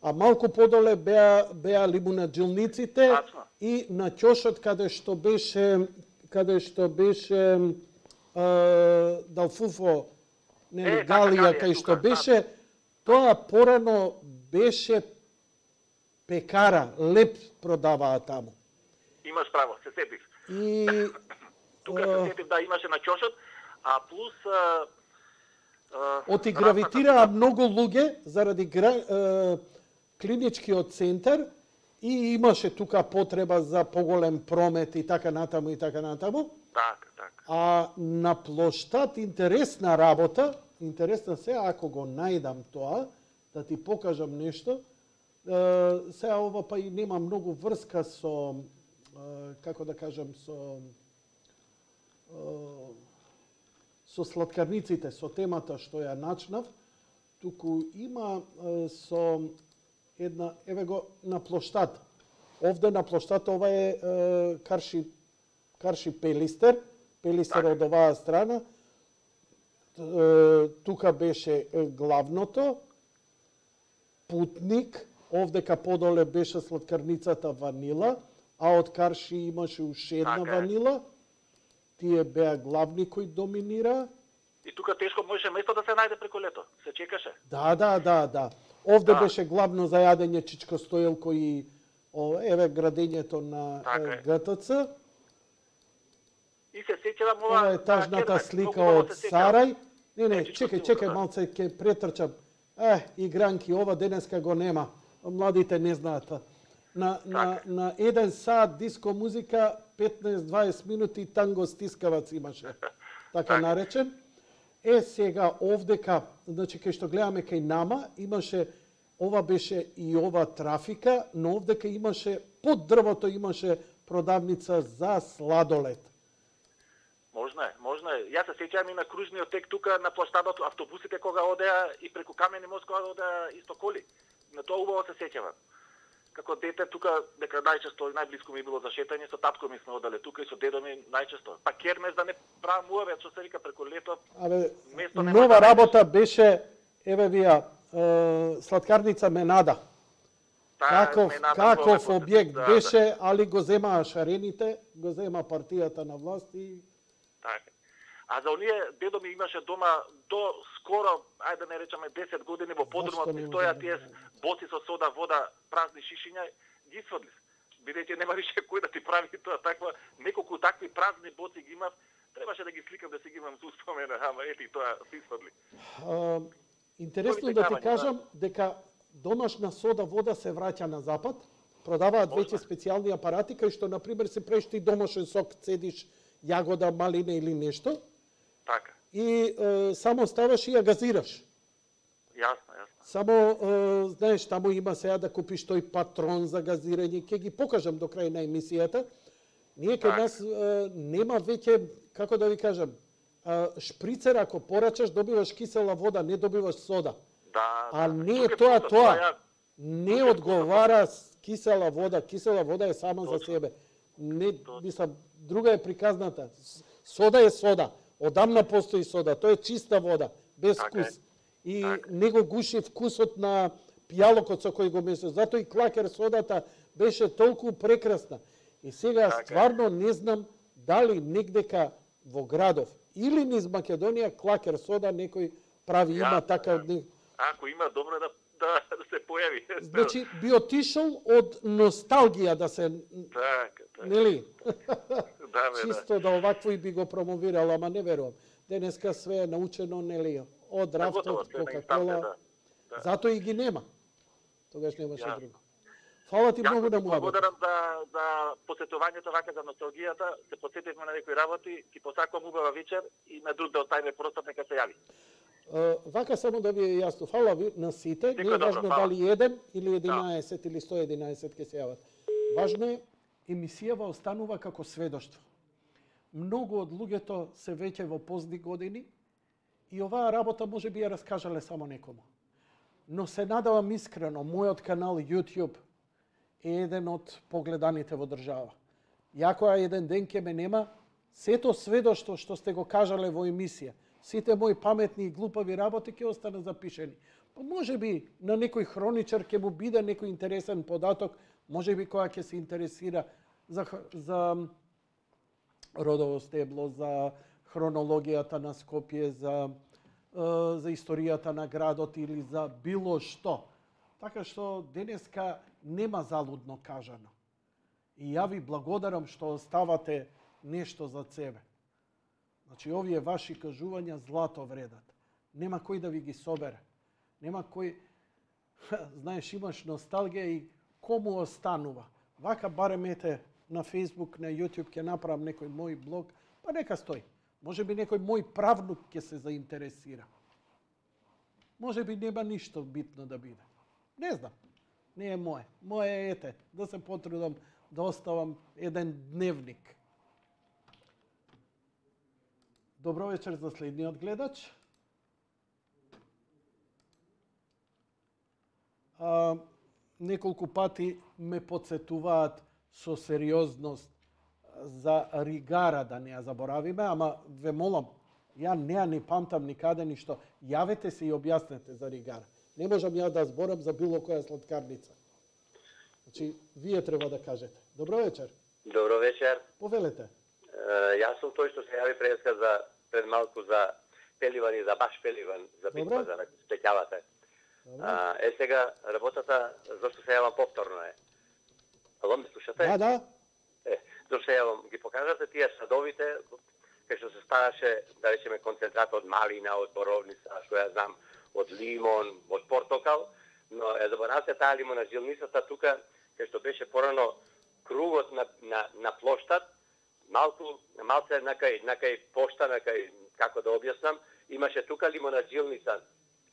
[SPEAKER 2] а малку подоле беа беа лимунаджилниците
[SPEAKER 8] Тачно.
[SPEAKER 2] и на ќошот каде што беше каде што беше е, Далфуфо, нели,
[SPEAKER 8] Е, така,
[SPEAKER 2] Галија,
[SPEAKER 8] Галија,
[SPEAKER 2] кај
[SPEAKER 8] тука,
[SPEAKER 2] што беше, тоа порано беше пекара, леп продаваа таму.
[SPEAKER 8] Имаш право, се сетив.
[SPEAKER 2] И
[SPEAKER 8] Тука
[SPEAKER 2] е,
[SPEAKER 8] се сетив да имаше на ќошот, а плюс а, а,
[SPEAKER 2] оти
[SPEAKER 8] расната
[SPEAKER 2] гравитираа
[SPEAKER 8] тука-
[SPEAKER 2] многу луѓе заради гра, е, клиничкиот центар и имаше тука потреба за поголем промет и така натаму и така натаму.
[SPEAKER 8] Така, така.
[SPEAKER 2] А на плоштад интересна работа, интересна се ако го најдам тоа, да ти покажам нешто. Е, сега ова па и нема многу врска со, е, како да кажам, со е, со сладкарниците, со темата што ја начнав, туку има е, со една, еве го на плоштад. Овде на плоштад ова е, е Карши Карши Пелистер, Пелистер од оваа страна. Е, тука беше е, главното, Путник, овдека подоле беше сладкарницата Ванила, а од Карши имаше уште една
[SPEAKER 8] Така е.
[SPEAKER 2] Ванила. Тие беа главни кои доминира.
[SPEAKER 8] И тука тешко можеше место да се најде преку лето. Се чекаше.
[SPEAKER 2] Да, да, да, да. Овде
[SPEAKER 8] Да.
[SPEAKER 2] беше главно за јадење чичко стоелко и о, еве градењето на
[SPEAKER 8] Така е.
[SPEAKER 2] Г Т Ц.
[SPEAKER 8] И се сеќавам ова...
[SPEAKER 2] Ова е
[SPEAKER 8] на
[SPEAKER 2] тажната
[SPEAKER 8] Кермек,
[SPEAKER 2] слика
[SPEAKER 8] многу убаво
[SPEAKER 2] од
[SPEAKER 8] се сеќавам.
[SPEAKER 2] Сарај. Не, не,
[SPEAKER 8] Е, чичко
[SPEAKER 2] чекај,
[SPEAKER 8] стилка,
[SPEAKER 2] чекај,
[SPEAKER 8] да.
[SPEAKER 2] малце ќе претрчам. Е, игранки, ова денеска го нема. Младите не знаат. На, на,
[SPEAKER 8] Така.
[SPEAKER 2] на еден сат диско музика, петнаесет до дваесет минути танго стискавац имаше. Така наречен. Е, сега овдека, значи кај што гледаме кај нама, имаше, ова беше и ова трафика, но овдека имаше, под дрвото имаше продавница за сладолед.
[SPEAKER 8] Можно е, можно е. Јас се сеќавам и на кружниот тек тука на площадот, автобусите кога одеа и преку Камени мост кога одеа исто коли. На тоа убаво се сеќавам. Како дете тука, дека најчесто најблиску ми било за шетање, со татко ми сме одале тука и со дедо ми најчесто. Па кермес да не правам уавет, што се вика преку лето.
[SPEAKER 2] Абе,
[SPEAKER 8] место нема
[SPEAKER 2] нова
[SPEAKER 8] да
[SPEAKER 2] работа беше, еве вија, е, сладкарница Менада.
[SPEAKER 8] Таа
[SPEAKER 2] Каков,
[SPEAKER 8] Менада
[SPEAKER 2] каков
[SPEAKER 8] во-
[SPEAKER 2] објект
[SPEAKER 8] да,
[SPEAKER 2] беше, али го земаа шарените, го зема партијата на власт и...
[SPEAKER 8] Така. А за оние дедо ми имаше дома до скоро, ајде да не речеме десет години во подрумот
[SPEAKER 2] Зашто
[SPEAKER 8] ми
[SPEAKER 2] не
[SPEAKER 8] стоја
[SPEAKER 2] може
[SPEAKER 8] тие
[SPEAKER 2] да-
[SPEAKER 8] боци со сода, вода, празни шишиња, ги сврдив. Бидејќи нема више кој да ти прави тоа таква, неколку такви празни боци ги имав, требаше да ги сликам да си ги имам за успомена, ама ете и тоа си сврдли.
[SPEAKER 2] А, интересно
[SPEAKER 8] Кои
[SPEAKER 2] да ти
[SPEAKER 8] текавања,
[SPEAKER 2] кажам дека домашна сода вода се враќа на запад, продаваат
[SPEAKER 8] Можно.
[SPEAKER 2] веќе специјални апарати кај што на пример се преш ти домашен сок, цедиш јагода, малина или нешто
[SPEAKER 8] Така.
[SPEAKER 2] и е, само ставаш и ја газираш.
[SPEAKER 8] Јасно, јасно.
[SPEAKER 2] Само е, знаеш таму има сега да купиш тој патрон за газирање, ќе ги покажам до крај на емисијата. Ние кај
[SPEAKER 8] Така.
[SPEAKER 2] нас е, нема веќе, како да ви кажам, е, шприцер ако порачаш добиваш кисела вода, не добиваш сода.
[SPEAKER 8] Да,
[SPEAKER 2] А
[SPEAKER 8] да.
[SPEAKER 2] не е
[SPEAKER 8] Тука
[SPEAKER 2] тоа
[SPEAKER 8] пута,
[SPEAKER 2] тоа.
[SPEAKER 8] ја-
[SPEAKER 2] Не
[SPEAKER 8] тука
[SPEAKER 2] одговара с кисела вода. Кисела вода е сама за
[SPEAKER 8] Точно.
[SPEAKER 2] себе. Не, мислам, друга е приказната. С- Сода е сода. Одамна постои сода. Тоа е чиста вода, без
[SPEAKER 8] Така е.
[SPEAKER 2] вкус. И
[SPEAKER 8] Така.
[SPEAKER 2] не го гуши вкусот на пијалокот со кој го месиш. Затоа и клакер содата беше толку прекрасна. И сега
[SPEAKER 8] Така е.
[SPEAKER 2] стварно не знам дали негдека во градов или низ Македонија клакер сода некој прави, има
[SPEAKER 8] Јасно,
[SPEAKER 2] така...
[SPEAKER 8] јасно.
[SPEAKER 2] не-
[SPEAKER 8] Ако има, добро е да, да, да се појави.
[SPEAKER 2] Значи, би отишол од носталгија да се,
[SPEAKER 8] Така, така.
[SPEAKER 2] нели?
[SPEAKER 8] Да, бе, да.
[SPEAKER 2] Чисто да овакво и би го промовирал, ама не верувам. Денеска све е научено, нели? Од
[SPEAKER 8] Готово,
[SPEAKER 2] рафтот,
[SPEAKER 8] све на инстанте,
[SPEAKER 2] Кока-кола.
[SPEAKER 8] да. Да.
[SPEAKER 2] Затоа и ги нема. Тогаш немаше
[SPEAKER 8] Јасно.
[SPEAKER 2] друго. Фала ти
[SPEAKER 8] Јако
[SPEAKER 2] многу на
[SPEAKER 8] ти
[SPEAKER 2] муабет.
[SPEAKER 8] благодарам за, за посетувањето вака за носталгијата. Се подсетивме на некои работи. Ти посакувам убава вечер и на друг дел тајме простор нека се јави.
[SPEAKER 2] Е, Вака само да ви е јасно. Фала ви на сите. Не
[SPEAKER 8] Секој
[SPEAKER 2] е
[SPEAKER 8] добро,
[SPEAKER 2] важно
[SPEAKER 8] фала.
[SPEAKER 2] дали еден или единаесет или сто единаесет ќе се јават. Важно е, емисијава останува како сведоштво. Многу од луѓето се веќе во позни години и оваа работа може би ја раскажале само некому. Но се надавам искрено, мојот канал YouTube е еден од погледаните во држава. Јако еден ден ќе ме нема, сето сведоштво што сте го кажале во емисија, сите мои паметни и глупави работи ќе останат запишени. Па може би на некој хроничар ќе му биде некој интересен податок, може би која ќе се интересира за, х- за родово стебло, за хронологијата на Скопје, за, е, за историјата на градот или за било што. Така што денеска нема залудно кажано. И ја ви благодарам што оставате нешто за себе. Значи, овие ваши кажувања злато вредат. Нема кој да ви ги собере. Нема кој... Знаеш, имаш носталгија и кому останува. Вака барем ете на Facebook, на YouTube ќе направам некој мој блог, па нека стои. Може би некој мој правнук ќе се заинтересира. Може би нема ништо битно да биде. Не знам. Не е моје. Моје е ете, да се потрудам да оставам еден дневник. Добро вечер за следниот гледач. А, неколку пати ме подсетуваат со сериозност за Ригара, да не ја заборавиме, ама ве молам, ја не ја не памтам никаде ништо. Јавете се и објаснете за Ригара. Не можам ја да зборам за било која сладкарница. Значи, вие треба да кажете. Добро вечер.
[SPEAKER 6] Добро вечер.
[SPEAKER 2] Повелете.
[SPEAKER 6] Е, Јас сум тој што се јави преска за пред малку за Пеливан и за баш Пеливан, за
[SPEAKER 2] Добре.
[SPEAKER 6] битва за спеќавате. А, е сега работата зашто се јавам повторно е. Ало, ме слушате?
[SPEAKER 2] Да, да.
[SPEAKER 6] Е, зашто се јавам, ги покажате тие садовите кај што се ставаше, да речеме, концентрат од малина, од боровница, што ја знам, од лимон, од портокал, но е заборавте таа лимонажилницата тука, кај што беше порано кругот на, на, на плоштад, малку, малце накај, накај пошта, накај, како да објаснам, имаше тука лимонаджилница,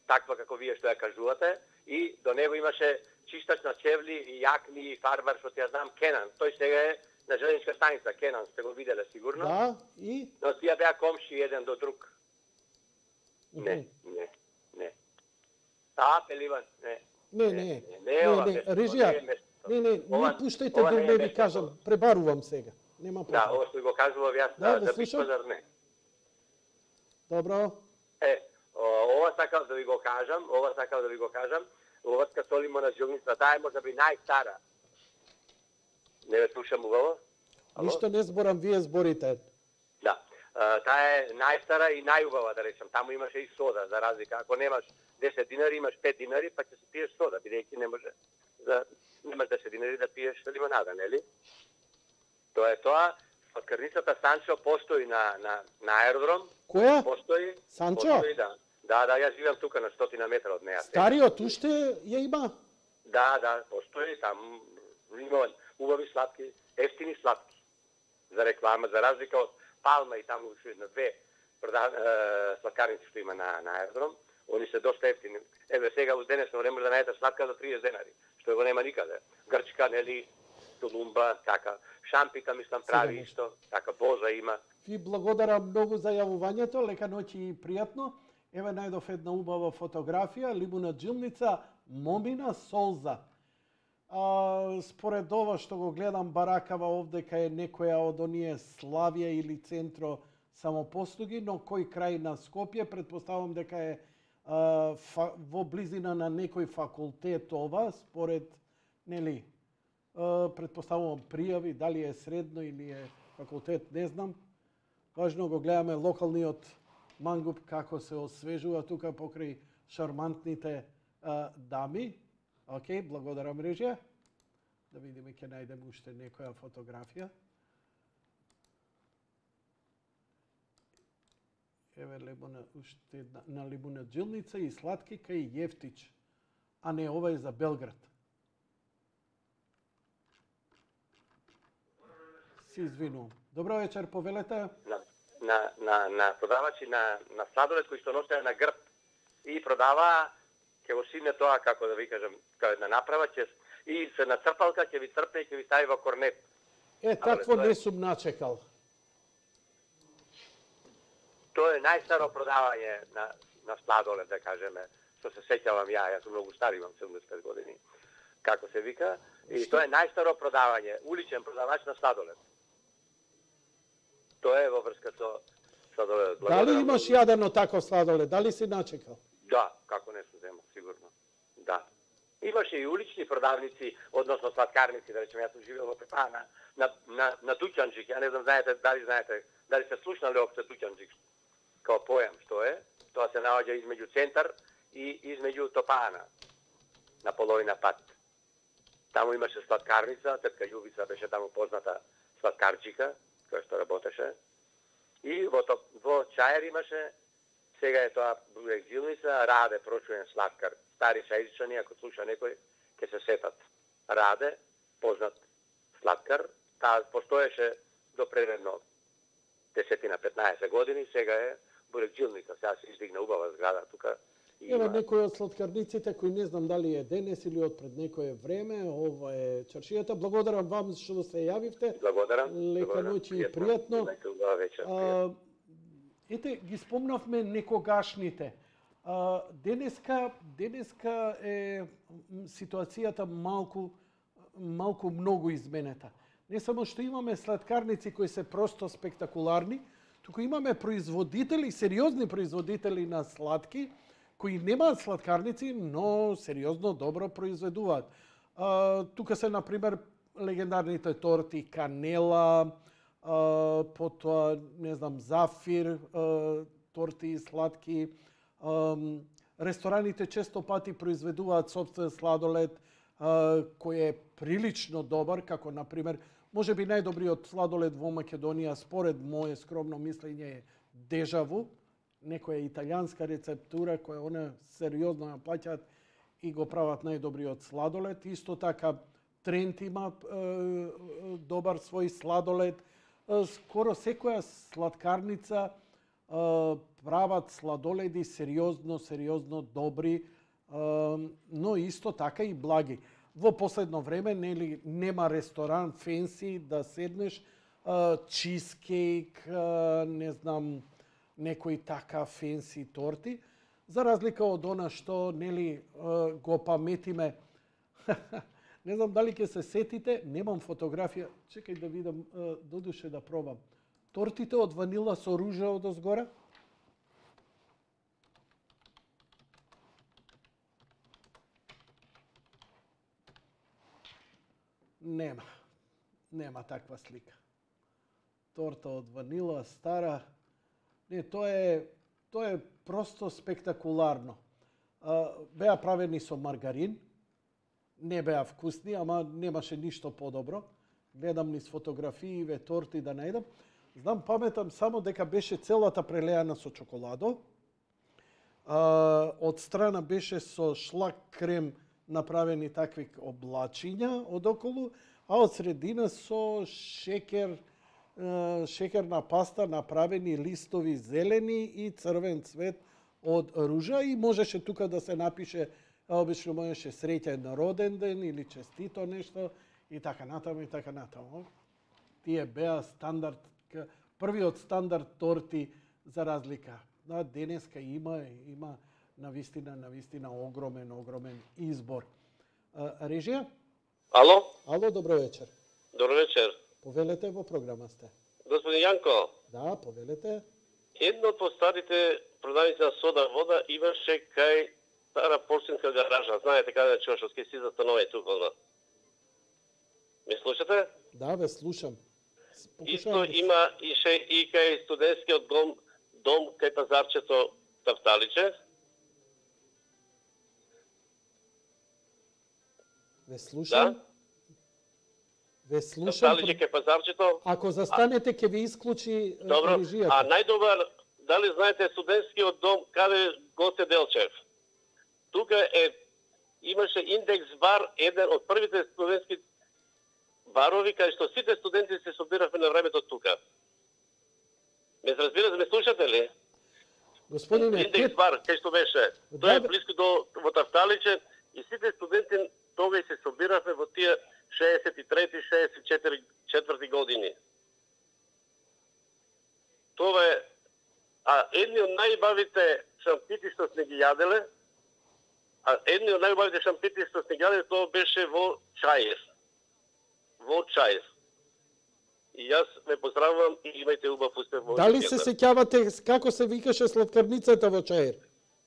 [SPEAKER 6] таква како вие што ја кажувате, и до него имаше чистач на чевли и јакни и фарбар, што ја знам, Кенан. Тој сега е на железничка станица, Кенан, сте го виделе сигурно.
[SPEAKER 2] Да, и?
[SPEAKER 6] Но тие беа комши еден до друг. Не, не, не. А, Пеливан, не.
[SPEAKER 2] Не, не, не, не, не, режија, не, не, не пуштајте да не ви кажам, пребарувам сега. Нема
[SPEAKER 6] проблем. Да, ова што го кажував јас да, за Бит Пазар, не.
[SPEAKER 2] Добро.
[SPEAKER 6] Е, ова сакав да ви го кажам, ова сакав да ви го кажам, оваска со лимонаджилница, таа е може би најстара. Не ве слушам убаво?
[SPEAKER 2] Ништо не зборам, вие зборите.
[SPEAKER 6] Да. Таа е најстара и најубава, да речем. Таму имаше и сода, за разлика. Ако немаш десет динари, имаш пет динари, па ќе се пиеш сода, бидејќи не може за немаш десет динари да пиеш лимонада, нели? Тоа е тоа. Сладкарницата Санчо постои на на на аеродром.
[SPEAKER 2] Која?
[SPEAKER 6] Постои.
[SPEAKER 2] Санчо?
[SPEAKER 6] Постои, да. Да, да, јас живеам тука на стотина метра од неа.
[SPEAKER 2] Стариот уште ја има?
[SPEAKER 6] Да, да, постои там. Има убави сладки, ефтини сладки. За реклама, за разлика од Палма и таму уште на две сладкарници што има на на аеродром, они се доста ефтини. Еве сега во денесно време да најдете сладка за триесет денари, што го нема никаде. Грчка, нели, Тулумба, така, Шампика мислам прави исто, така Боза има.
[SPEAKER 2] Ви благодарам многу за јавувањето, лека ноќ и пријатно. Еве најдов една убава фотографија, лимонаджилница Момина Солза. А, според ова што го гледам баракава овдека е некоја од оние Славија или Центро самопослуги, но кој крај на Скопје, предпоставам дека е а, фа, во близина на некој факултет ова, според, нели, а, предпоставувам пријави, дали е средно или е факултет, не знам. Важно го гледаме локалниот мангуп како се освежува тука покрај шармантните а, дами. Океј, благодарам режија. Да видиме, ќе најдем уште некоја фотографија. Еве лимона, уште една, на лимонаджилница и сладки кај Јефтич. А не, ова е за Белград. Си извинувам. Добро вечер, повелете.
[SPEAKER 6] На, на, на, на продавачи на, на сладолед кои што носеа на грб и продава, ќе го сине тоа, како да ви кажам, како една направа, ќе и се на црпалка ќе ви црпне и ќе ви стави во корнет.
[SPEAKER 2] Е, такво не сум начекал.
[SPEAKER 6] Тоа е најстаро продавање на, на сладолед, да кажеме, што се сеќавам ја, јас сум многу стар, имам седумдесет и пет години, како се вика, и што? Тоа е најстаро продавање, уличен продавач на сладолед. Тоа е во врска со сладолед.
[SPEAKER 2] Дали имаш јадено тако сладолед? Дали си начекал?
[SPEAKER 6] Да, како не се зема, сигурно. Да. Имаше и улични продавници, односно сладкарници, да речем, јас сум живеел во Пепана, на, на, на Тучанџик, ја не знам, знаете, дали знаете, дали сте слушнали опце Тучанџик, као појам што е, тоа се наоѓа измеѓу центар и измеѓу Топана, на половина пат. Таму имаше сладкарница, тетка Јубица беше таму позната сладкарчика, која што работеше, и во, во Чаер имаше, сега е тоа Бурекджилница, Раде, прочуен сладкар. Стари сајзичани, ако слуша некој, ќе се сетат. Раде, познат сладкар, таа постоеше до предредно десет-петнаесет години, сега е Бурекджилница. Сега се издигна убава зграда тука.
[SPEAKER 2] Ева некој од сладкарниците кои не знам дали е денес или од пред некое време, ова е чаршијата. Благодарам вам што се јавивте.
[SPEAKER 6] Благодарам.
[SPEAKER 2] Лека ноќ и пријатно. А, ете, ги спомнавме некогашните. А, денеска, денеска е ситуацијата малку, малку многу изменета. Не само што имаме сладкарници кои се просто спектакуларни, туку имаме производители, сериозни производители на сладки, кои немаат сладкарници, но сериозно добро произведуваат. А, тука се, например, легендарните торти Канела, а, потоа, не знам, Зафир, а, торти и сладки. А, рестораните често пати произведуваат собствен сладолед, а, кој е прилично добар, како, например, може би најдобриот сладолед во Македонија, според моје скромно мислење, е Дежаву, некоја италијанска рецептура која она сериозно ја плаќаат и го прават најдобриот сладолед. Исто така Трент има е, добар свој сладолед. Скоро секоја сладкарница е, прават сладоледи сериозно, сериозно добри, но исто така и благи. Во последно време нели нема ресторан фенси да седнеш, чизкейк, не знам, некои така фенси торти, за разлика од она што нели го паметиме. Не знам дали ќе се сетите, немам фотографија, чекај да видам, додуше да пробам. Тортите од ванила со ружа од озгора. Нема. Нема таква слика. Торта од ванила, стара. Не, тоа е, тоа е просто спектакуларно. Беа правени со маргарин. Не беа вкусни, ама немаше ништо подобро. Гледам низ фотографииве торти да најдам. Знам, паметам само дека беше целата прелеана со чоколадо. Од страна беше со шлак крем направени такви облачиња одоколу, а од средина со шекер, шекерна паста направени листови зелени и црвен цвет од ружа и можеше тука да се напише, обично можеше среќен роден ден или честито нешто и така натаму и така натаму. Тие беа стандард, првиот стандард торти за разлика. Да, денеска има има навистина, навистина огромен, огромен избор. Режија?
[SPEAKER 9] Ало?
[SPEAKER 2] Ало, добро вечер.
[SPEAKER 9] Добро вечер.
[SPEAKER 2] Повелете, во програма сте.
[SPEAKER 9] Господин Јанко.
[SPEAKER 2] Да, повелете.
[SPEAKER 9] Едно од постарите продавници на сода вода имаше кај стара порцинска гаража. Знаете каде на Чошовски си застанови тука. Ме слушате?
[SPEAKER 2] Да, ве слушам.
[SPEAKER 9] Исто има ише и кај студентскиот дом, дом кај пазарчето Тафталиче.
[SPEAKER 2] Ве слушам.
[SPEAKER 9] Да?
[SPEAKER 2] Ве слушам.
[SPEAKER 9] Тафталиче кај пазарчето.
[SPEAKER 2] Ако застанете, ќе ви исклучи
[SPEAKER 9] Добро.
[SPEAKER 2] режијата.
[SPEAKER 9] А најдобар, дали знаете студентскиот дом каде Гоце Делчев? Тука е имаше индекс бар, еден од првите студентски барови кај што сите студенти се собиравме на времето тука. Ме разбирате, ме слушате ли?
[SPEAKER 2] Господине,
[SPEAKER 9] индекс
[SPEAKER 2] кет...
[SPEAKER 9] бар кај што беше.
[SPEAKER 2] Да,
[SPEAKER 9] Тоа е
[SPEAKER 2] да.
[SPEAKER 9] близко до во Тафталиче и сите студенти тогаш се собиравме во тие шеесет и трети шеесет и четврти години. Тоа е, а едни од најбавите шампити што сме ги јаделе, а едни од најбавите шампити што сме ги јаделе, тоа беше во Чаир. Во Чаир. И јас ве поздравувам и имајте убав успех во
[SPEAKER 2] Дали се сеќавате како се викаше сладкарницата во Чаир?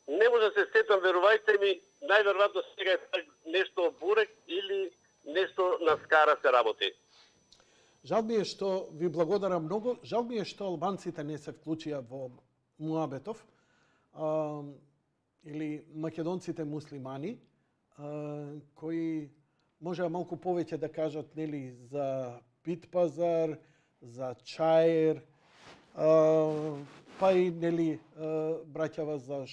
[SPEAKER 9] Не може да се сетам, верувајте ми, најверојатно сега е нешто бурек или нешто на скара се работи.
[SPEAKER 2] Жал ми е што ви благодарам многу. Жал ми е што албанците не се вклучија во муабетов, а, или македонците муслимани, а, кои можеа малку повеќе да кажат нели за Бит пазар, за Чаир, а, па и нели браќава за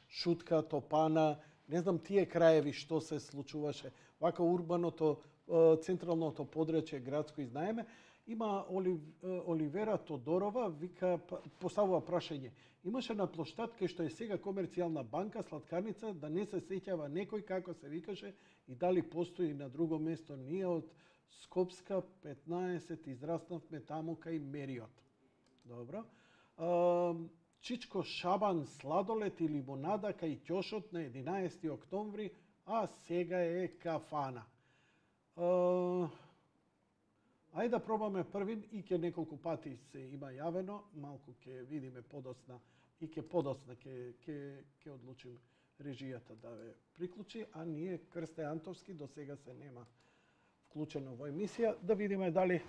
[SPEAKER 2] Шутка, Топана, не знам тие краеви што се случуваше. Вака урбаното, централното подрачје градско и знаеме, има Олив, Оливера Тодорова, вика, поставува прашање. Имаше на плоштад кај што е сега комерцијална банка, сладкарница, да не се сеќава некој како се викаше и дали постои на друго место. Ние од Скопска петнаесет израснавме таму кај Мериот. Добро. Чичко Шабан сладолет и лимонада кај ќошот на единаесети октомври, а сега е кафана. Ајде да пробаме првин и ке неколку пати се има јавено, малку ќе видиме подосна и ке подосна ке ке ке одлучим режијата да ве приклучи, а ние Крсте Антовски до сега се нема вклучено во емисија, да видиме дали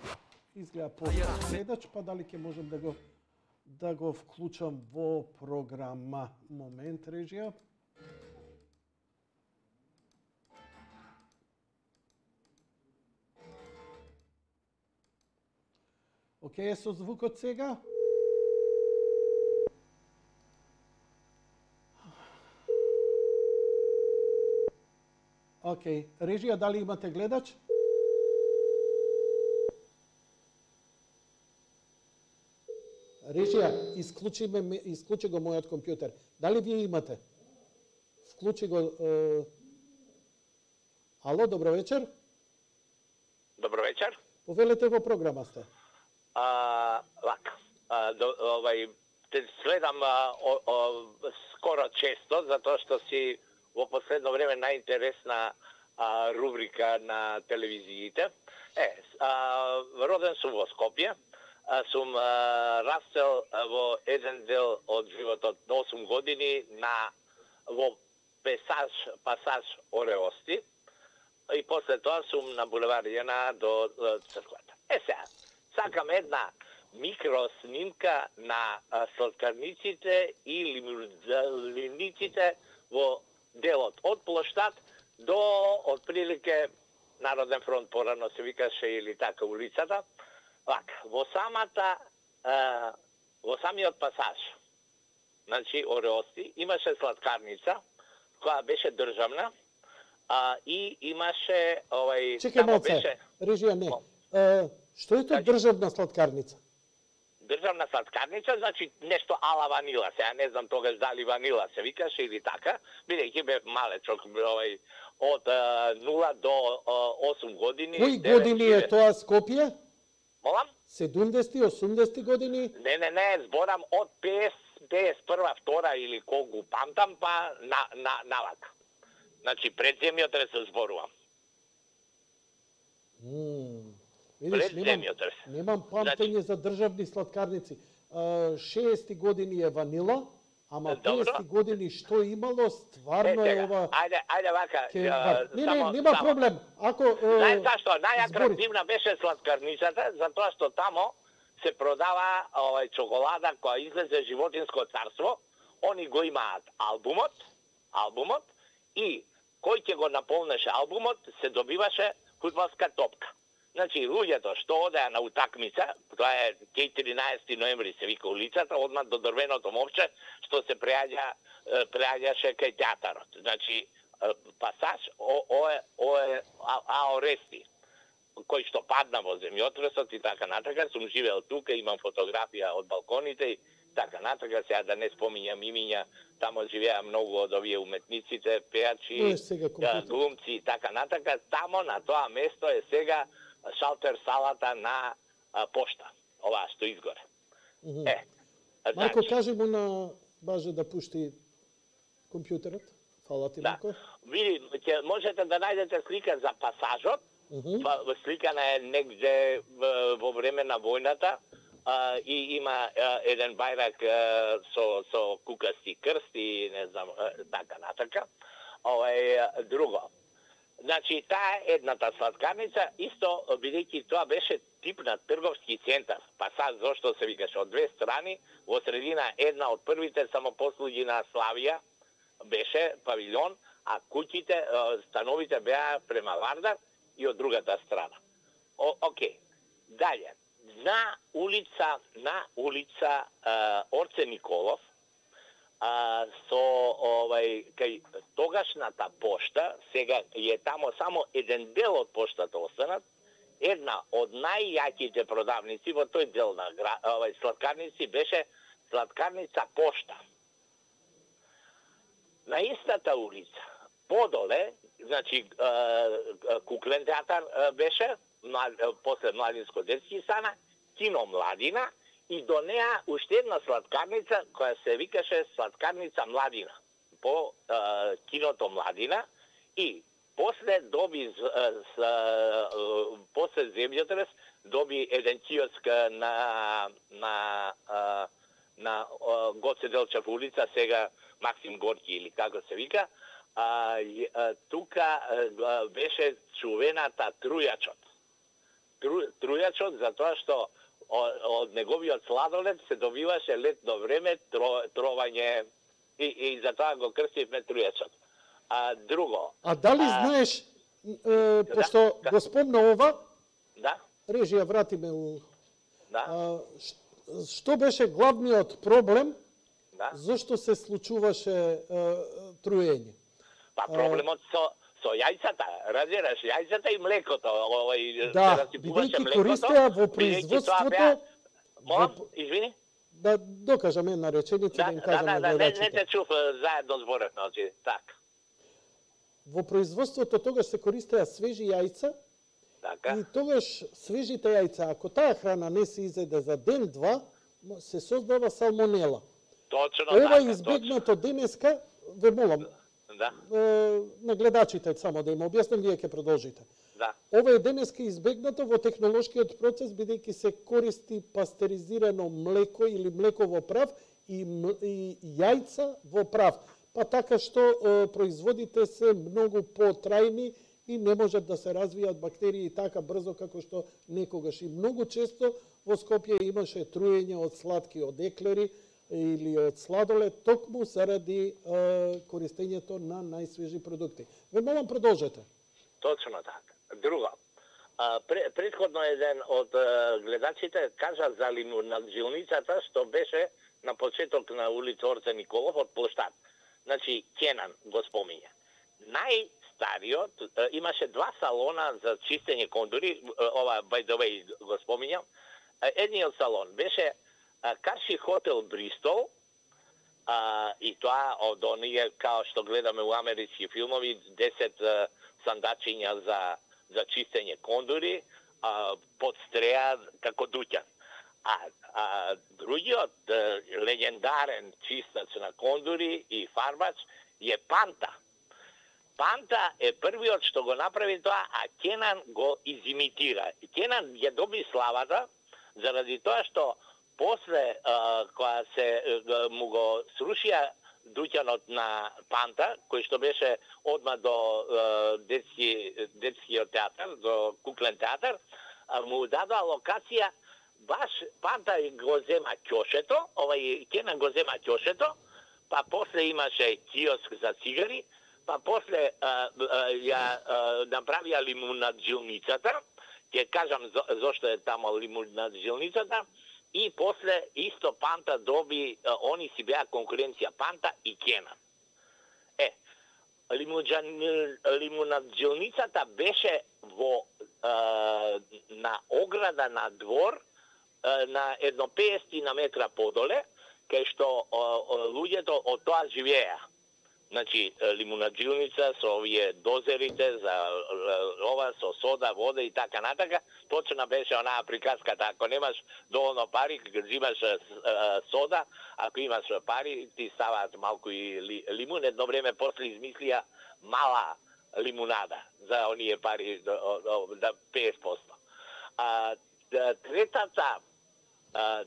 [SPEAKER 2] изгледа поздрав гледач, па дали ќе можам да го да го вклучам во програма. Момент, режија. Океј, со звукот сега. Океј, режија, дали имате гледач? Режија, исклучи, ме, исклучи го мојот компјутер. Дали вие имате? Вклучи го... Е... Ало, добро вечер.
[SPEAKER 10] Добро вечер.
[SPEAKER 2] Повелете во програма сте.
[SPEAKER 10] А, лак. А, до, овај, те следам а, о, о, скоро често, затоа што си во последно време најинтересна а, рубрика на телевизиите. Е, а, роден сум во Скопје. А, сум а, растел а, во еден дел од животот на осум години на во пасаж, пасаж Ореости. И после тоа сум на булевар Јена до, до црквата. Е сега, сакам една микроснимка на а, сладкарниците и лимузиниците во делот од плоштад до отприлике Народен фронт порано се викаше или така улицата. Вака, во самата а, во самиот пасаж, значи Ореости, имаше сладкарница која беше државна. А, и имаше овај
[SPEAKER 2] Чекај малце, беше... Режија не. А, што е тоа државна сладкарница?
[SPEAKER 10] Државна сладкарница, значи нешто ала ванила. Сега не знам тогаш дали ванила се викаше или така, бидејќи бев малечок, овај од а, нула до а, осум години.
[SPEAKER 2] Кои години е тоа Скопје?
[SPEAKER 10] Молам?
[SPEAKER 2] седумдесети, осумдесети години?
[SPEAKER 10] Не, не, не, зборам од песет, песет прва, втора или колку памтам, па на на навака. Значи, пред земјотрес се зборувам.
[SPEAKER 2] Mm. Видиш, немам, немам памтење значи... за државни сладкарници. шеесетти години е ванила, ама песетти години што имало, стварно е, е ова...
[SPEAKER 10] Ајде, ајде вака...
[SPEAKER 2] Ке... Не, не, само, нема само. Проблем. Ако...
[SPEAKER 10] Знаеш зашто? Најатрактивна беше сладкарницата, затоа што тамо се продава овај чоколада која излезе Животинско царство. Они го имаат албумот, албумот, и кој ќе го наполнеше албумот, се добиваше фудбалска топка. Значи, луѓето што одеа на утакмица, тоа е четирнаесети ноември се вика улицата, одма до дрвеното мовче, што се преаѓа, преаѓаше кај театарот. Значи, пасаж ое, ое, Аорести, кој што падна во земјотресот и така натака, сум живеел тука, имам фотографија од балконите и така натака, сега да не споминјам имиња, тамо живеа многу од овие уметниците, пеачи, глумци и така натака, тамо на тоа место е сега шалтер салата на а, пошта, оваа што изгоре.
[SPEAKER 2] Mm -hmm. Е, Марко, значи, кажи му на Баже да пушти компјутерот. Фала ти,
[SPEAKER 10] да.
[SPEAKER 2] Марко.
[SPEAKER 10] Види, ќе можете да најдете слика за пасажот, mm -hmm. па, сликана е негде во време на војната, а, и има а, еден бајрак а, со, со кукасти крст и не знам, а, така натака. Ова е друго. Значи, таа едната сладкарница, исто, бидејќи тоа беше тип на трговски центар. Пасаж, зашто се викаше, од две страни, во средина една од првите самопослуги на Славија беше павилјон, а куќите, становите беа према Вардар и од другата страна. О, окей. Далje, на улица, на улица uh, Орце Николов, А, со овај кај тогашната пошта, сега е тамо само еден дел од поштата останат, една од најјаките продавници во тој дел на овај сладкарници беше сладкарница Пошта. На истата улица, подоле, значи куклен театар беше, после Младинско детски стана, кино Младина, и до неа уште една сладкарница која се викаше сладкарница Младина по е, киното Младина, и после доби с, с, е, после земјотрес доби еден киоск на на е, на е, Гоце Делчев улица, сега Максим Горки или како се вика. А, е, тука е, беше чувената Трујачот. Тру, трујачот затоа што од неговиот сладолед се добиваше летно време тро, тровање и, и затоа го крстивме Трујачот. А друго...
[SPEAKER 2] А дали а... знаеш, е, пошто да, го спомна ова,
[SPEAKER 10] да?
[SPEAKER 2] Режија, вратиме у...
[SPEAKER 10] Да?
[SPEAKER 2] А, што беше главниот проблем,
[SPEAKER 10] да?
[SPEAKER 2] Зошто се случуваше е, труење?
[SPEAKER 10] Па проблемот со... Со јајцата, разбираш, јајцата и млекото, овој
[SPEAKER 2] да, бидејќи користеа во производството...
[SPEAKER 10] Молам, извини?
[SPEAKER 2] да докажам една реченица, да,
[SPEAKER 10] да
[SPEAKER 2] им кажам
[SPEAKER 10] да,
[SPEAKER 2] на
[SPEAKER 10] да, не,
[SPEAKER 2] гледачите.
[SPEAKER 10] не те чув, заедно зборев, значи, така.
[SPEAKER 2] Во производството тогаш се користеа свежи јајца,
[SPEAKER 10] Така.
[SPEAKER 2] и тогаш свежите јајца, ако таа храна не се изеде за ден-два, се создава салмонела.
[SPEAKER 10] Точно
[SPEAKER 2] Ова
[SPEAKER 10] така,
[SPEAKER 2] е избегнато денеска, ве молам,
[SPEAKER 10] Да,
[SPEAKER 2] е, на гледачите само да им објаснам, вие ќе продолжите.
[SPEAKER 10] да.
[SPEAKER 2] Ова е денеска избегнато во технолошкиот процес, бидејќи се користи пастеризирано млеко или млеко во прав и, и јајца во прав. Па така што е, производите се многу потрајни и не можат да се развијат бактерии така брзо како што некогаш. И многу често во Скопје имаше труење од сладки, од еклери или од сладолед, токму заради е, користењето на најсвежи продукти. Ве молам, продолжете.
[SPEAKER 10] Точно така. Друго, а, предходно еден од а, гледачите кажа за лимунаджилницата што беше на почеток на улица Орце Николов од площад. Значи, Кенан го спомиња. Најстариот, а, имаше два салона за чистење кондури, ова, by the way, го спомињам. Едниот салон беше а, Карши хотел Бристол, а, и тоа од оние, као што гледаме у амерички филмови, десет а, сандачиња за за чистење кондури, а, под стреја како дуќан. А, а другиот а, легендарен чистач на кондури и фарбач е Панта. Панта е првиот што го направи тоа, а Кенан го изимитира. Кенан ја доби славата заради тоа што после а, кога се а, му го срушија дуќанот на Панта, кој што беше одма до е, детски, детскиот театар, до куклен театар, му дадоа локација, баш Панта го зема ќошето, овај Кенан го зема ќошето, па после имаше киоск за цигари, па после е, е, ја е, направија лимунаджилницата, ќе кажам за, зошто е тамо лимунаджилницата, и после исто Панта доби, они си беа конкуренција Панта и Кенан. Е, лимунаджилницата беше во е, на ограда на двор е, на едно петдесет метра подоле, кај што е, луѓето од тоа живееа. Значи, лимунаджилница со овие дозерите за ова, со сода, вода и така натака. Точно беше онаа приказката, ако немаш доволно пари, взимаш сода, ако имаш пари, ти ставаат малку и лимун. Едно време после измислија мала лимунада за оние пари да петдесет проценти. А, третата а,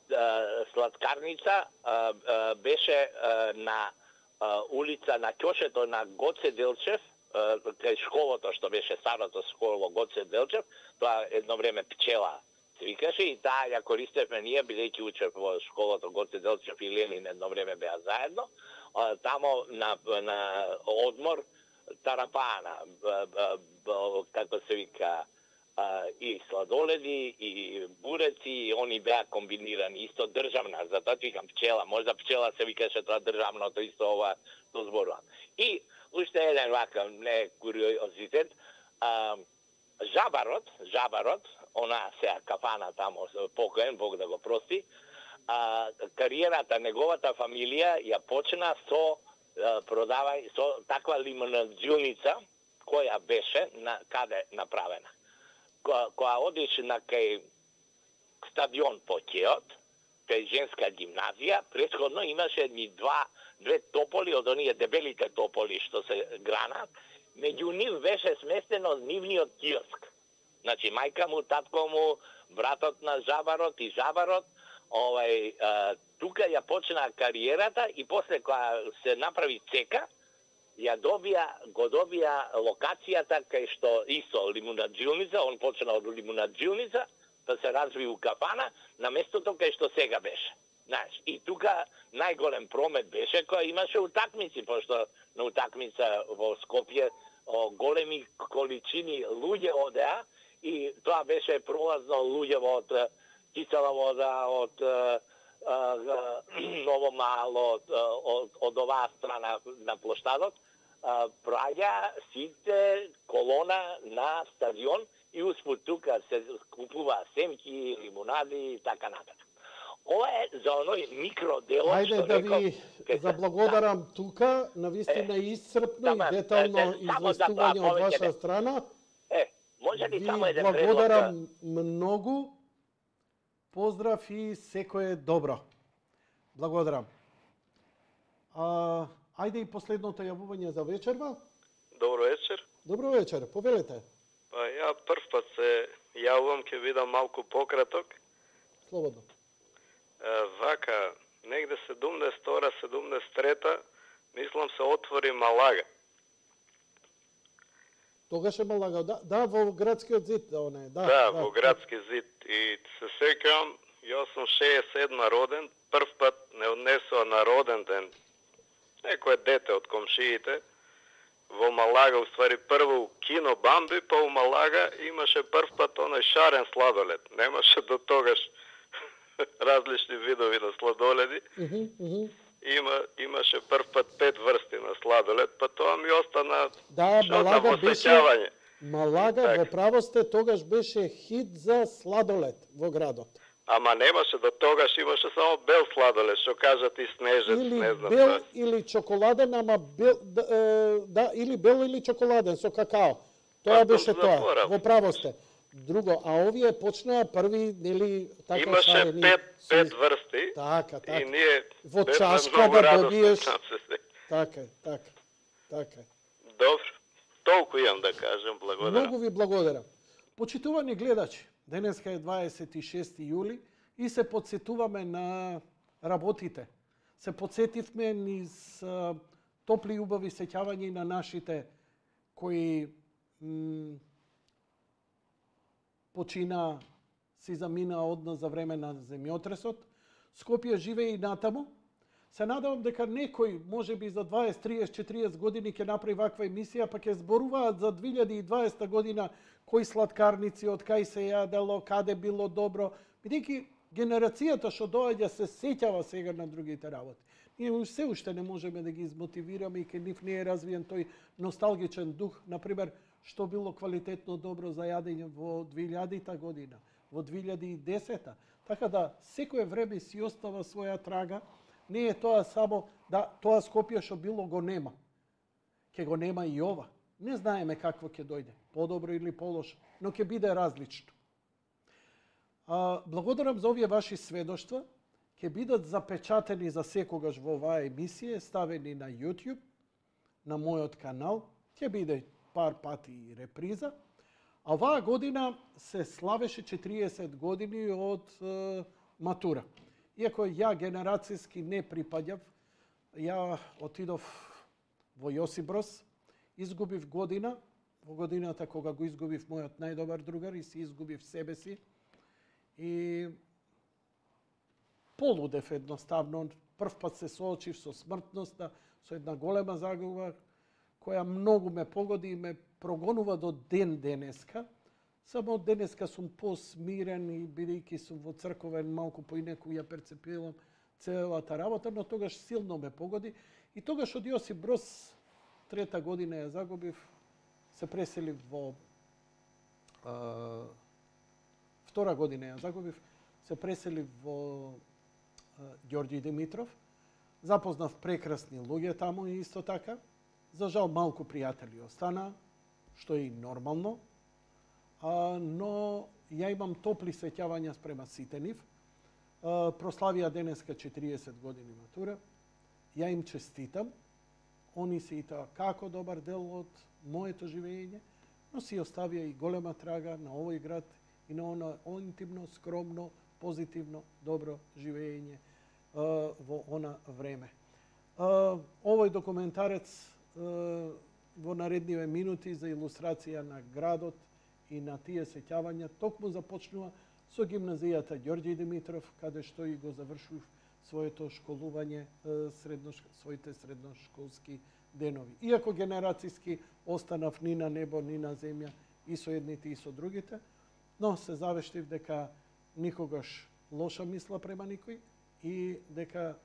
[SPEAKER 10] сладкарница а, а, беше а, на улица на ќошето на Гоце Делчев, кај школото што беше старото школо Гоце Делчев, тоа едно време Пчела се викаше и таа ја користевме ние, бидејќи учев во школото Гоце Делчев и Ленин едно време беа заедно. Тамо на, на одмор тарапана, како се вика, и сладоледи, и буреци, и они беа комбинирани, исто државна, затоа викам Пчела, можда Пчела се викаше тоа државното, исто ова тоа зборувам. И уште еден вака, не куриозитет, а, Жабарот, Жабарот, она сега кафана тамо, покоен, Бог да го прости, а, кариерата, неговата фамилија ја почна со а, продавај, со таква лимунаджилница, која беше на каде направена. Кога одиш на кај стадион Покеот, кај женска гимназија, претходно имаше едни два, две тополи од оние дебелите тополи што се гранат, меѓу нив беше сместено нивниот киоск. Значи, мајка му, татко му, братот на Жабарот и Жабарот, овај, а, тука ја почна кариерата и после кога се направи цека, ја добија, го добија локацијата кај што исто лимунаджилница, он почна од лимунаджилница, да се разви у кафана, на местото кај што сега беше. Знаеш, и тука најголем промет беше која имаше утакмици, пошто на утакмица во Скопје о, големи количини луѓе одеа и тоа беше пролазно луѓе од кисела вода, од Ново Мало, од, од, од оваа страна на площадот, праѓа сите колона на стадион и успут тука се купува семки, лимунади и така натаму. ова е за оној микроделот
[SPEAKER 2] Ајде
[SPEAKER 10] што
[SPEAKER 2] да
[SPEAKER 10] реков.
[SPEAKER 2] ви заблагодарам тука, навистина истрпно и детално известување од ваша страна.
[SPEAKER 10] Е, може ли
[SPEAKER 2] Ви
[SPEAKER 10] само еден предлог?
[SPEAKER 2] благодарам многу. Поздрав и секое добро. Благодарам. А, ајде и последното јавување за вечерва.
[SPEAKER 11] Добро вечер.
[SPEAKER 2] Добро вечер, повелете.
[SPEAKER 11] Па ја прв пат се јавувам, ќе видам малку пократок.
[SPEAKER 2] Слободно.
[SPEAKER 11] Е, вака, негде седумдесет и втора седумдесет и трета, мислам се отвори Малага.
[SPEAKER 2] Тогаш е Малага, да, да, во градскиот зид, да, оне, да.
[SPEAKER 11] Да, во градски зид. И се сеќавам, јас сум шеесет и седма роден, прв пат не однесува на роден ден некое дете од комшиите во Малага, уствари прво кино Бамби, па у Малага имаше прв пат оној шарен сладолед. Немаше до тогаш различни видови на сладоледи.
[SPEAKER 2] Uh-huh, uh-huh.
[SPEAKER 11] Има, имаше прв пат пет врсти на сладолед, па тоа ми остана
[SPEAKER 2] да, Малага беше, Малага,
[SPEAKER 11] так.
[SPEAKER 2] во право сте, тогаш беше хит за сладолед во градот.
[SPEAKER 11] Ама немаше до тогаш, имаше само бел сладолед, што кажат и снежец,
[SPEAKER 2] или
[SPEAKER 11] не знам.
[SPEAKER 2] бел
[SPEAKER 11] да.
[SPEAKER 2] или чоколаден, ама бел, да, е, да, или бел или чоколаден со какао. Тоа
[SPEAKER 11] Па,
[SPEAKER 2] беше тоа,
[SPEAKER 11] заборав.
[SPEAKER 2] во право сте. Друго, а овие почнаа први, нели, така
[SPEAKER 11] Имаше
[SPEAKER 2] шарени,
[SPEAKER 11] пет,
[SPEAKER 2] си-
[SPEAKER 11] пет врсти
[SPEAKER 2] Така, така.
[SPEAKER 11] и ние
[SPEAKER 2] Во
[SPEAKER 11] бевме
[SPEAKER 2] чашка
[SPEAKER 11] многу
[SPEAKER 2] да
[SPEAKER 11] радосни,
[SPEAKER 2] добиеш.
[SPEAKER 11] знам се се.
[SPEAKER 2] Така, е, така, така. е.
[SPEAKER 11] Добро, толку имам да кажем, благодарам.
[SPEAKER 2] Многу ви благодарам. Почитувани гледачи, денеска е дваесет и шести јули и се подсетуваме на работите. Се подсетивме низ а, топли и убави сеќавања на нашите кои м, почина, си замина од нас за време на земјотресот. Скопје живее и натаму. Се надевам дека некој, може би за дваесет, триесет, четириесет години ќе направи ваква емисија, па ќе зборуваат за две илјади и дваесета година кои сладкарници, од кај се јадело, каде било добро, бидејќи генерацијата што доаѓа се сеќава сега на другите работи. Ние се уште не можеме да ги измотивираме и кај нив не е развиен тој носталгичен дух, например, што било квалитетно добро за јадење во две илјадита година, во две илјади и десета. Така да секое време си остава своја трага. Не е тоа само да тоа Скопје што било го нема. Ќе го нема и ова. Не знаеме какво ќе дојде, подобро или полошо, но ќе биде различно. А, благодарам за овие ваши сведоштва. Ќе бидат запечатени за секогаш во оваа емисија, ставени на YouTube, на мојот канал. Ќе биде пар пати и реприза. А оваа година се славеше четириесет години од е, матура. Иако ја генерацијски не припаѓав, ја отидов во Јосиброс, изгубив година, во годината кога го изгубив мојот најдобар другар и си изгубив себе си. И полудев едноставно, прв пат се соочив со смртноста, со една голема загуба, која многу ме погоди и ме прогонува до ден денеска. Само денеска сум посмирен и бидејќи сум во црковен малку поинеку ја перцепирам целата работа, но тогаш силно ме погоди. И тогаш од Јосип Брос, трета година ја загубив, се преселив во а, втора година ја загубив, се преселив во а, Ѓорѓи Димитров. Запознав прекрасни луѓе таму и исто така. За жал малку пријатели остана, што е и нормално. А, но ја имам топли сеќавања спрема сите нив. А, прославија денеска четириесет години матура. Ја им честитам. Они се и тоа како добар дел од моето живење, но си оставија и голема трага на овој град и на оно интимно, скромно, позитивно, добро живење а, во она време. А, овој документарец а, во наредниве минути за илустрација на градот и на тие сеќавања токму започнува со гимназијата Ѓорѓи Димитров, каде што и го завршив своето школување, средно, своите средношколски денови. Иако генерацијски останав ни на небо, ни на земја, и со едните и со другите, но се завештив дека никогаш лоша мисла према никој и дека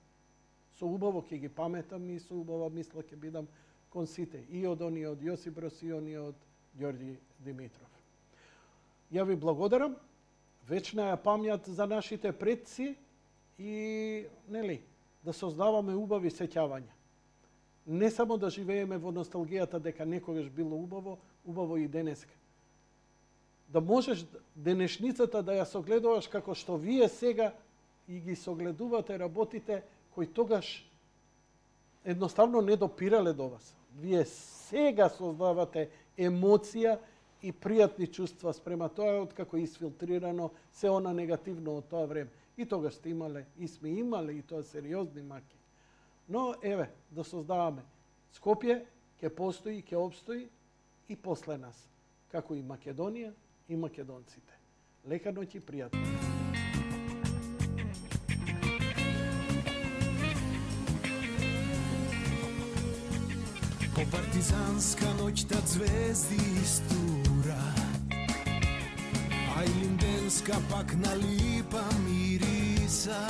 [SPEAKER 2] со убаво ќе ги паметам и со убава мисла ќе бидам кон сите, и од оние од Јосип Брос и оние од Ѓорѓи Димитров. Ја ви благодарам, вечна ја памјат за нашите предци и нели да создаваме убави сеќавања. Не само да живееме во носталгијата дека некогаш било убаво, убаво и денеска. Да можеш денешницата да ја согледуваш како што вие сега и ги согледувате работите кои тогаш едноставно не допирале до вас. Вие сега создавате емоција и пријатни чувства спрема тоа, откако е изфилтрирано се она негативно од тоа време. И тогаш сте имале, и сме имале, и тоа сериозни маки. Но, еве, да создаваме. Скопје ќе постои, ќе обстои и после нас, како и Македонија и македонците. Лека ноќ и пријатно.
[SPEAKER 12] По партизанска ноќта звезди истура, а и линденска пак на липа мириса.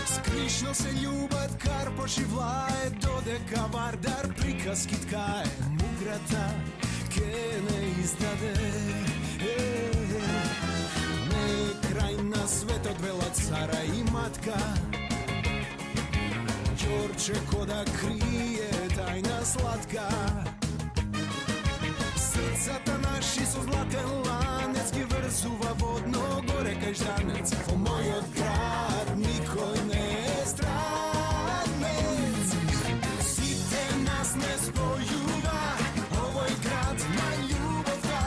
[SPEAKER 12] Скришно се љубат Карпош и Влае, додека Вардар приказки ткае, муграта ке не издаде. Е, не крај на светот вела цара и матка, Ѓорче кода крие тајна сладка. Срцата наши со златен ланец ги врзува водно горе кај Жданец. Во мојот град никој не е странец. Сите нас не спојува овој град на љубовта.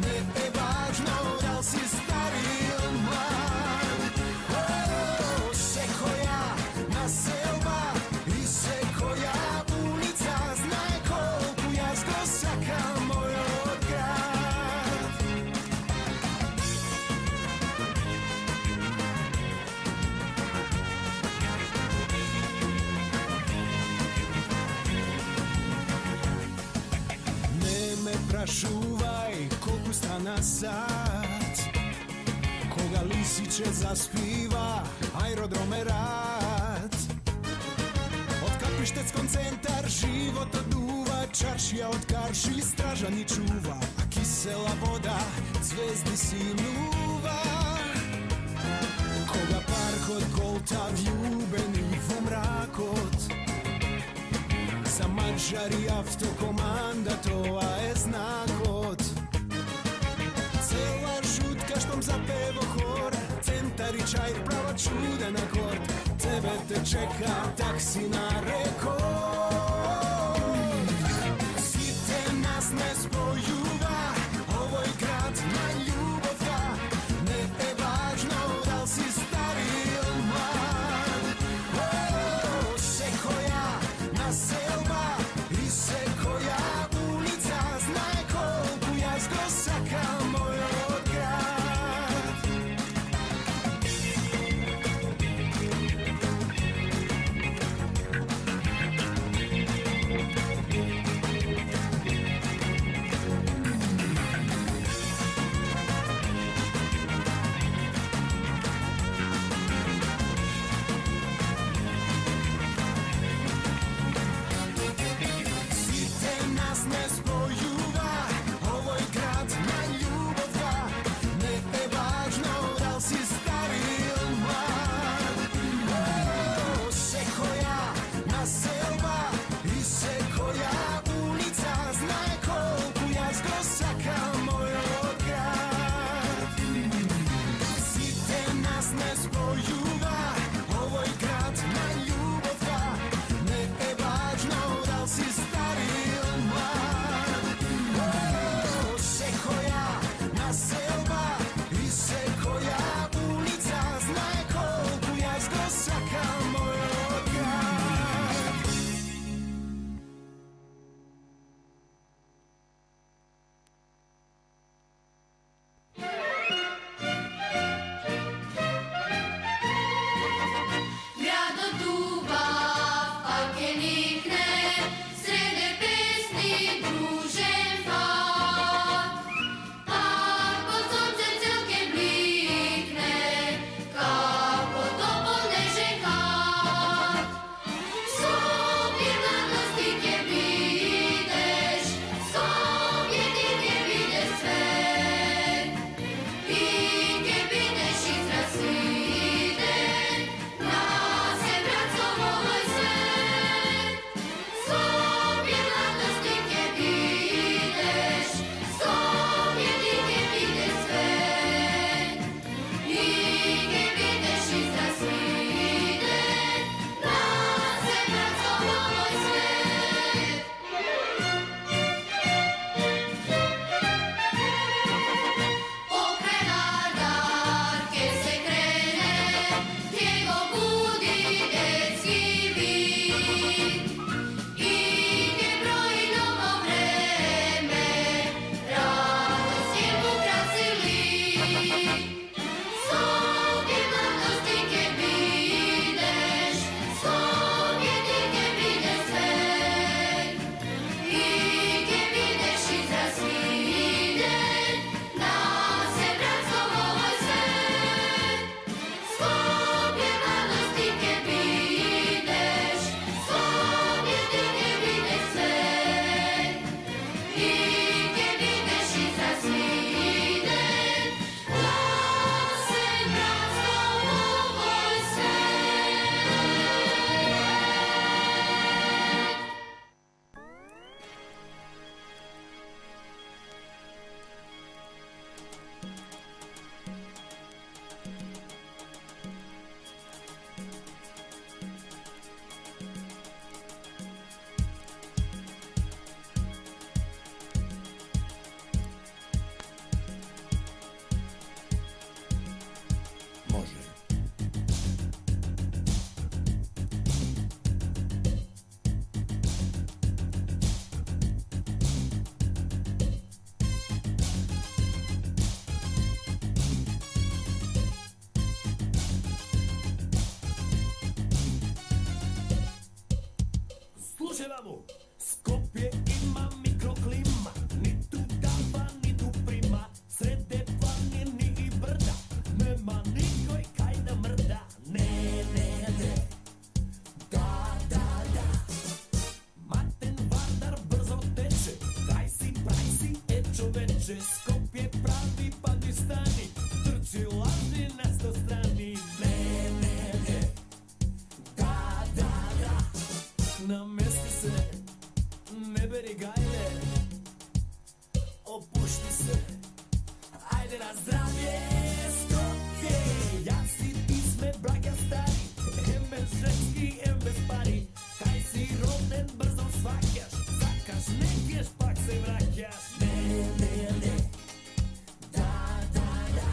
[SPEAKER 12] Не е важно дал си стар или млад. Секоја населба и секоја улица знае колку јас го сакам мојот град. Не ме прашувај колку стана сат, кога лисиче заспива аеродром е рад. Од Капиштецкон центар животот дува, чаршија од карши стража ни чува, а кисела вода звезди синува. Кога паркот голта вјубени во мракот, за маđари автокоманда тоа е знакот. Цела жутка штом запево хор, центар и чај права чуден акорд. Тебе те чека такси на рекорд. Сите нас не спојува овој град на љубовта. Не е важно дал си стар или млад. Секоја населба и секоја улица знае колку јас го сакам мојот град. Сите нас не спојува овој град на љубовта. Не е важно дал си стар или млад. Секоја населба и секоја улица знае колку јас го сакам мојот град. Сите нас не спојува овој град на љубовта. Не е важно дал си стар или млад. Секоја населба и секоја улица знае колку јас го сакам мојот град. Slušaj vamo, Skopje ima mikroklima, nittu dava, nittu prima, srede planini i brda, nema nikoj kaj da mrda, ne, ne, ne, da, da, da. Maten Vardar brzo teče, kaj si, praj si, e čoveče, Skopje pravi Pakistani, trči laži na sto strani, ne, ne, ne, da, da, da. Namesti se, ne beri gajle, opušti se, ajde na zdravje, Skopje, ja si ti sme braća stari, em bez ženski, em bez pari, kaj si roden brzo svakaš, zakaš nekeš pak se vraćaš, ne, ne, ne, da, da, da.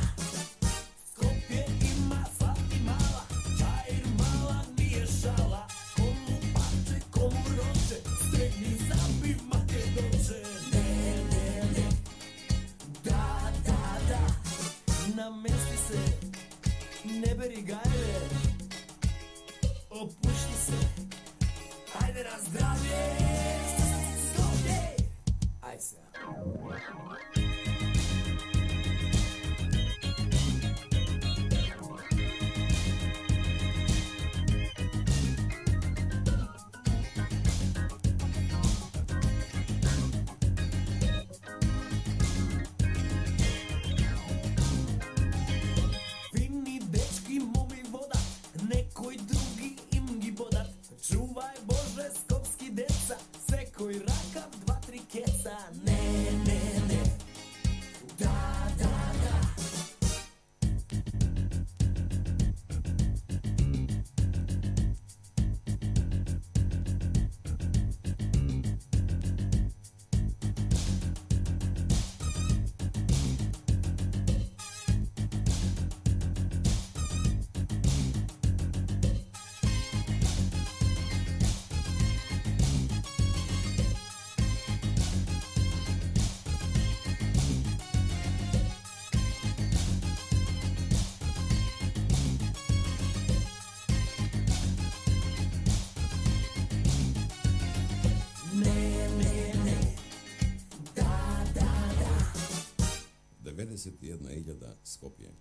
[SPEAKER 12] Skopje ima slat i mala, čair mala nije šala, komu pače, komu roče, stegni zabi make doče, ne, ne, ne, da, da, da. Namesti se, ne beri gajle, opušti se, ajde na zdravlje, Skopje, aj se. Fini dečki momi voda, nekoj drugi im gi bodat. Čuvaj Bože skopski deca, sekoj rakav dva tri keca. Ne, ne, ne, da, da, da. Ne, ne, ne, da, da, da.
[SPEAKER 13] devedeset и една илјада Скопје.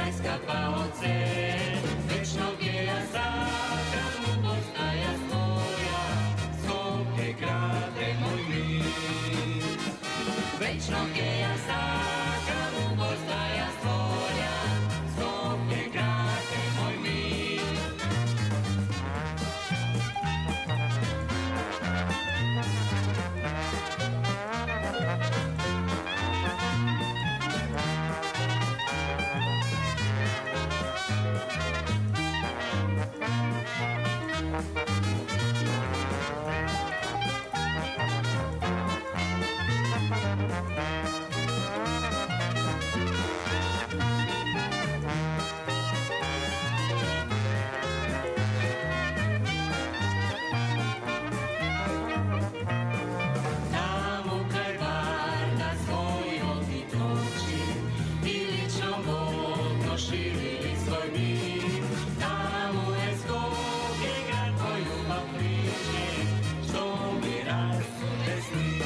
[SPEAKER 14] najskapa ocen, večnog je ja sakram u postaja svoja, Skopje grade moj mir. Večnog je ja sakram u postaja svoja, Skopje grade moj mir. Tamo kraj Varna svoj odbit oči, Ilićom vodno širili svoj mir. Tamo je Skopje grad tvoj ljubav priče, što mi rasude sni.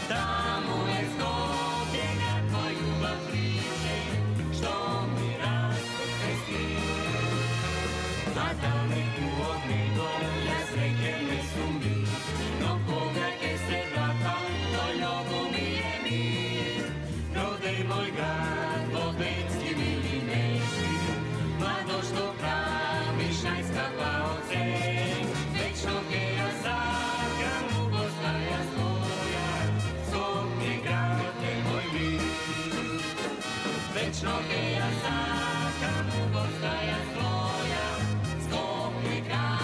[SPEAKER 14] Tamo je Skopje grad tvoj ljubav priče, što mi rasude sni. A daleku od nego ja sreće ne sumnji, no povraće se vratam, do ljubu mi je mir. Rodej moj grad, Bobenski mili neši, mlado što praviš najskapa ocen, večnog je ja sakram u postaja svoja, Skopje grade moj mir. Večnog je ja sakram u postaja svoja, Skopje grade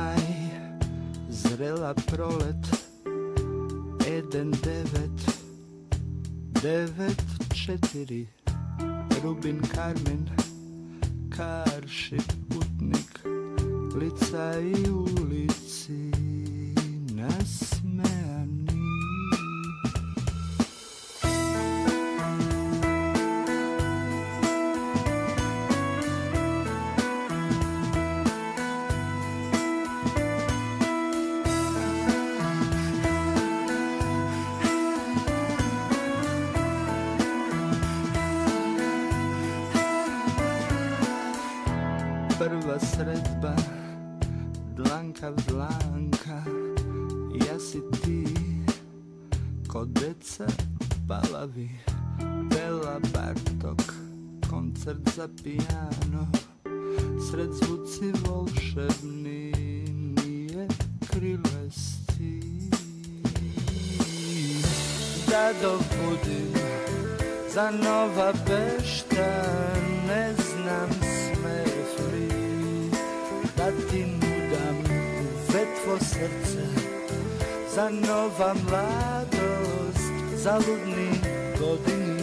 [SPEAKER 15] maj, zrela prolet, Eden devet, devet četiri, Rubin Karmen, Karši putnik, lica i ulici nasmejani. Prva sredba, dlanka v dlanka, ja si ti, ko deca palavi, Bela Bartok, koncert za pijano, sred zvuci volšebni, nije krilesti. Da dobudim za Nova Bešta, ne znam smefli, da ti nudam vetvo srce, za nova mladost, za ludni godini.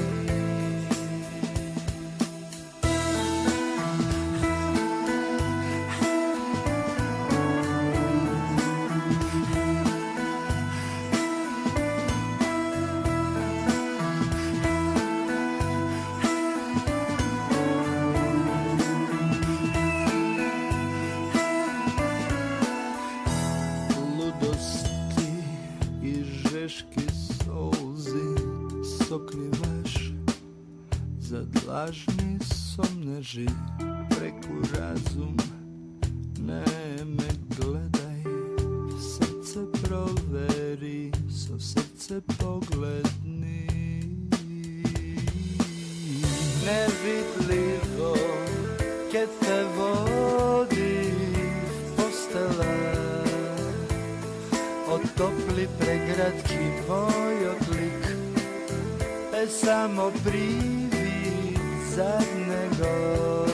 [SPEAKER 15] Lažni somneži preku razum, ne me gledaj, srce proveri, so srce pogledni. Nevidljivo ke te vodi postela, otopli pregradki moj odlik, e samo privi zadnego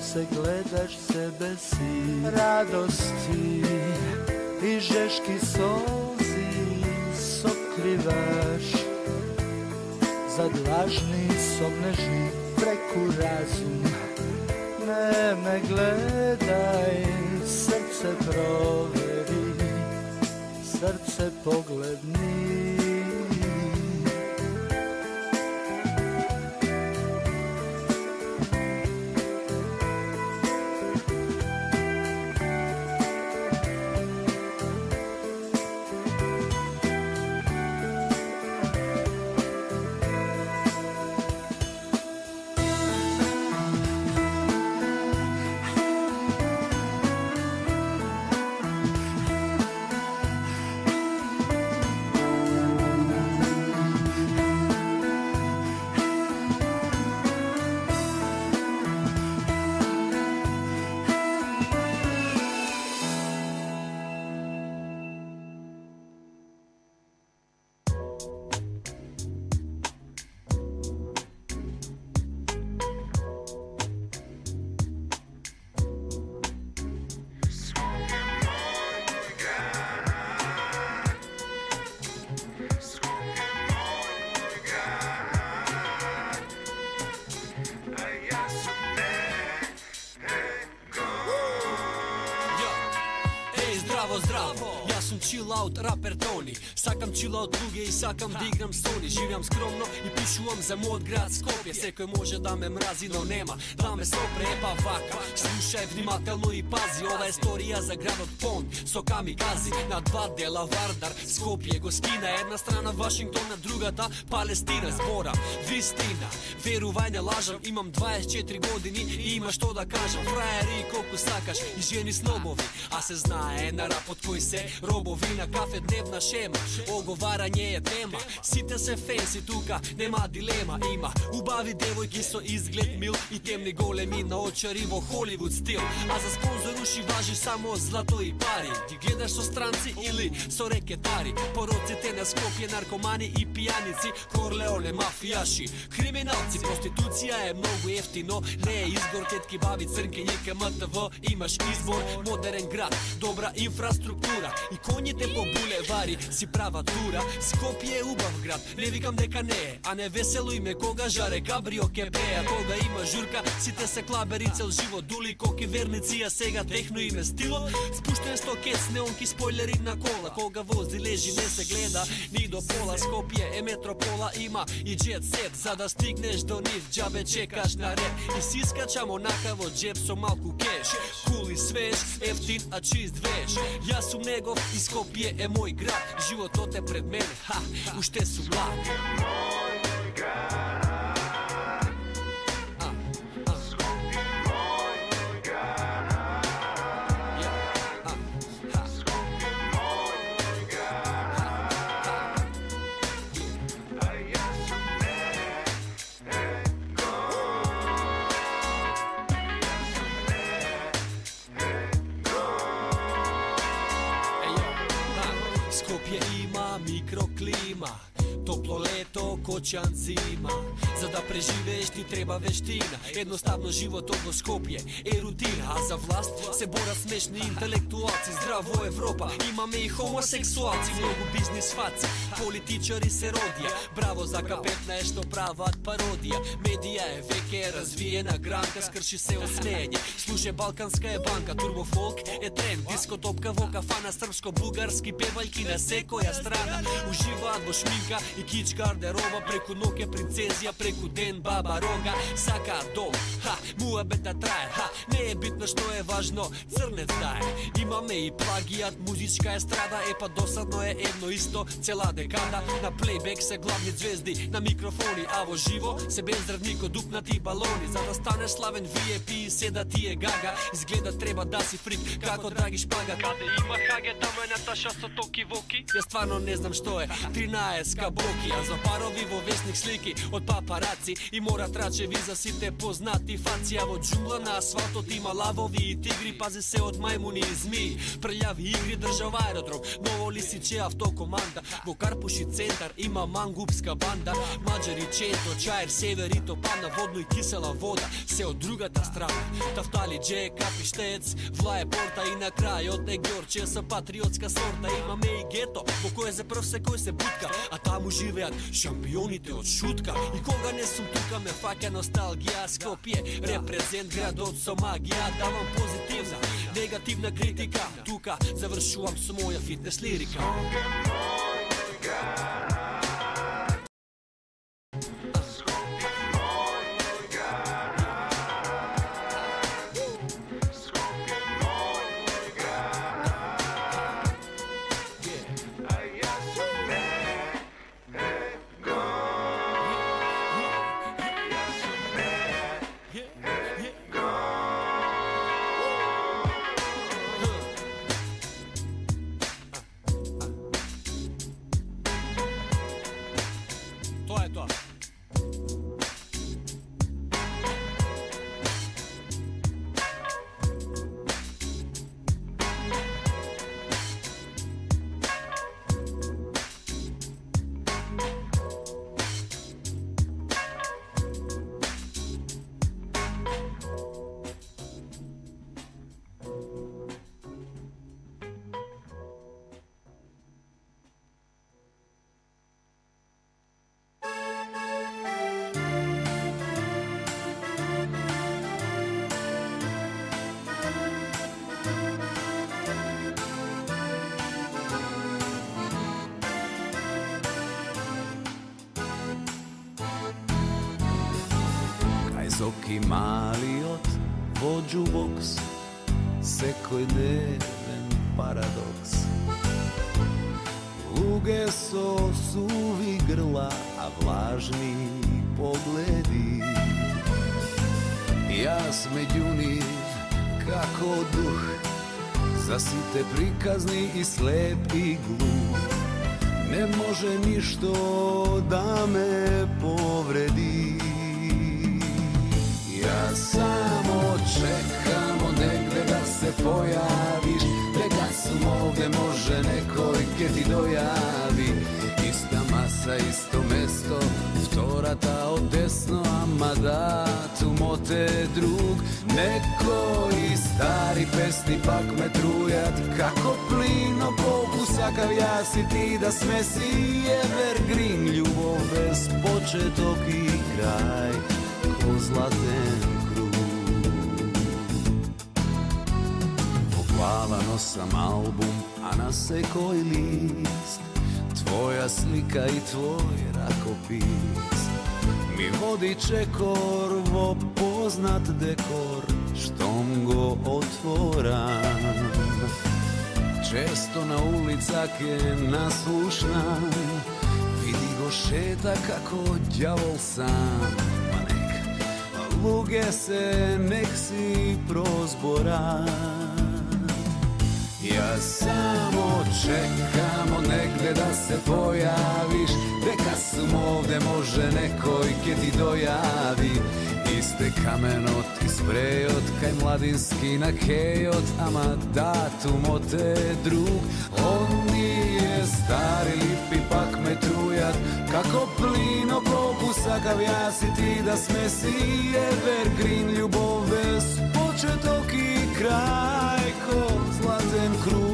[SPEAKER 15] se gledaš sebe si, radosti i žeški solzi sokrivaš, zad lažni somneži preku razum, ne me gledaj, srce proveri, srce pogledni.
[SPEAKER 16] Chill out, raper Toni. Сакам chill out луѓе и сакам да играм Sony. Живеам скромно и пишувам за мојот град Скопје. Секој може да ме мрази, но нема да ме сопре, епа вака. Слушај внимателно и пази, ова е историја за градот Пон со камикази. На два дела Вардар, Скопје го скина, една страна Вашингтон, на другата Палестина. Збора вистина, верувај не лажам, имам дваесет и четири години и има што да кажам. Фраери колку сакаш и жени с нобови, а се знае на под кој се робовина, кафе, дневна шема, оговарање е тема. Сите се фенси тука, нема дилема. Има убави девојки со изглед мил и темни големи наочари во Холивуд стил. А за спонзор уши важи само злато и пари. Ги гледаш со странци или со рекетари. Пороците на Скопје, наркомани и пијаници, Корлеоне, мафијаши, криминалци. Проституција е многу ефтино, не е изгор, тетки, баби, црнки, њека, ем те вэ. Имаш избор, модерен град, добра инфраструктура и коњите по булевари си права тура. Скопје е убав град, не викам дека не е, а не весело име кога жаре кабрио ке беа. Кога има журка, сите се клабери цел живот, дули коки верници, а сега техно име стилот. Спуштен стокец, неонки спойлери на кола, кога вози лежи не се гледа ни до пола. Скопје е метропола, има и джет сет, за да стигнеш до нив џабе чекаш на ред и си скачам онака во джеб со малку кеш. Кул и свеж, ефтин, а чист веш. Јас сум негов и Скопје е мој град. Животот е пред мене, ха, уште сум млад. Скопје има микроклима, топло лето, кочан зима. За да преживееш ти треба вештина. Едноставно животот во Скопје е рутина. А за власт се борат смешни интелектуалци. Здраво Европа, имаме и хомосексуалци. Многу бизнис фаци, политичари се родија. Браво за Ка петнаесет што прават пародија. Медија е веќе развиена гранка, скрши се осмење. Слуше балканска е банка, турбофолк е тренд. Дискотопка во кафана, српско-бугарски певајки на секоја страна. Уживаат во шминка и кич гардероба, преку ноќе принцезија, преку ден баба рога. Сакаат дом, ха, муабета трае, ха, не е битно што е важно, црнец дае. Имаме и плагијат, музичка естрада, е па досадно е едно исто цела декада. На плейбек се главни звезди, на микрофони, а во живо се бездрвнико дупнати балони. За да станеш славен ви ай пи, седа ти е гага, изгледа треба да си фрик, како Драги Шпага. Каде има хаге, тамо е Наташа со токи воки. Ја стварно не знам што е тринаесет кабоки, а за парови во весник слики од папараци и мора трачеви за сите познати фаци. А во џунгла на асфалтот има лавови и тигри, пази се од мајмуни и змии. Прљави игри држава аеродром, Ново Лисиче автокоманда. Во Карпуши центар има мангупска банда. Маđари, Чето, Чајер, Север и Топана, водно и кисела вода се од другата страна. Тафтали, Дже, Капиштец, Влае Порта и на крајот е Ѓорче со патриотска сорта. Имаме и гето во кое за прв секој се бутка, а таму живеат шампионите од шутка. И кога не сум тука ме фаќа носталгија. Скопје, репрезент градот со магија. Давам позитивна, негативна критика. Тука завршувам со моја фитнес лирика.
[SPEAKER 17] Соки малиот во џубокс, секој дневен парадокс. Луѓе со суви грла, а влажни погледи. Јас меѓу нив како дух, za site prikazni i slep i glup. Ne može ništo da me povredi. Ja samo čekamo negde da se pojaviš, neka su ovde može nekoj ke ti dojavi. Ista masa, isto mesto, vtorata od desno, ama datu mote drug. Neko i stari pesni pak me trujat, kako plino pokusakav ja si ti da smesi evergreen. Ljubov bez početok i kraj, ko zlaten krug. Po glava nosam album, a na sekoj list tvoja slika i tvoj rakopis. Mi vodi čekor vo poznat dekor, štom go otvoram. Često na ulicak je naslušna, vidi go šeta kako đavol sam. Ma nek, luge se, nek si prozboran. Ja samo čekamo negde da se pojaviš, neka sum ovde može nekoj ke ti dojavi. Iste kamenot i sprejot, kaj mladinski na kejot, ama datum od te drug. On nije stari lipi pak me trujat, kako plino pokusakav ja si ti da smesi evergreen. Ljubov bez početok i kraj, ko zlaten krug.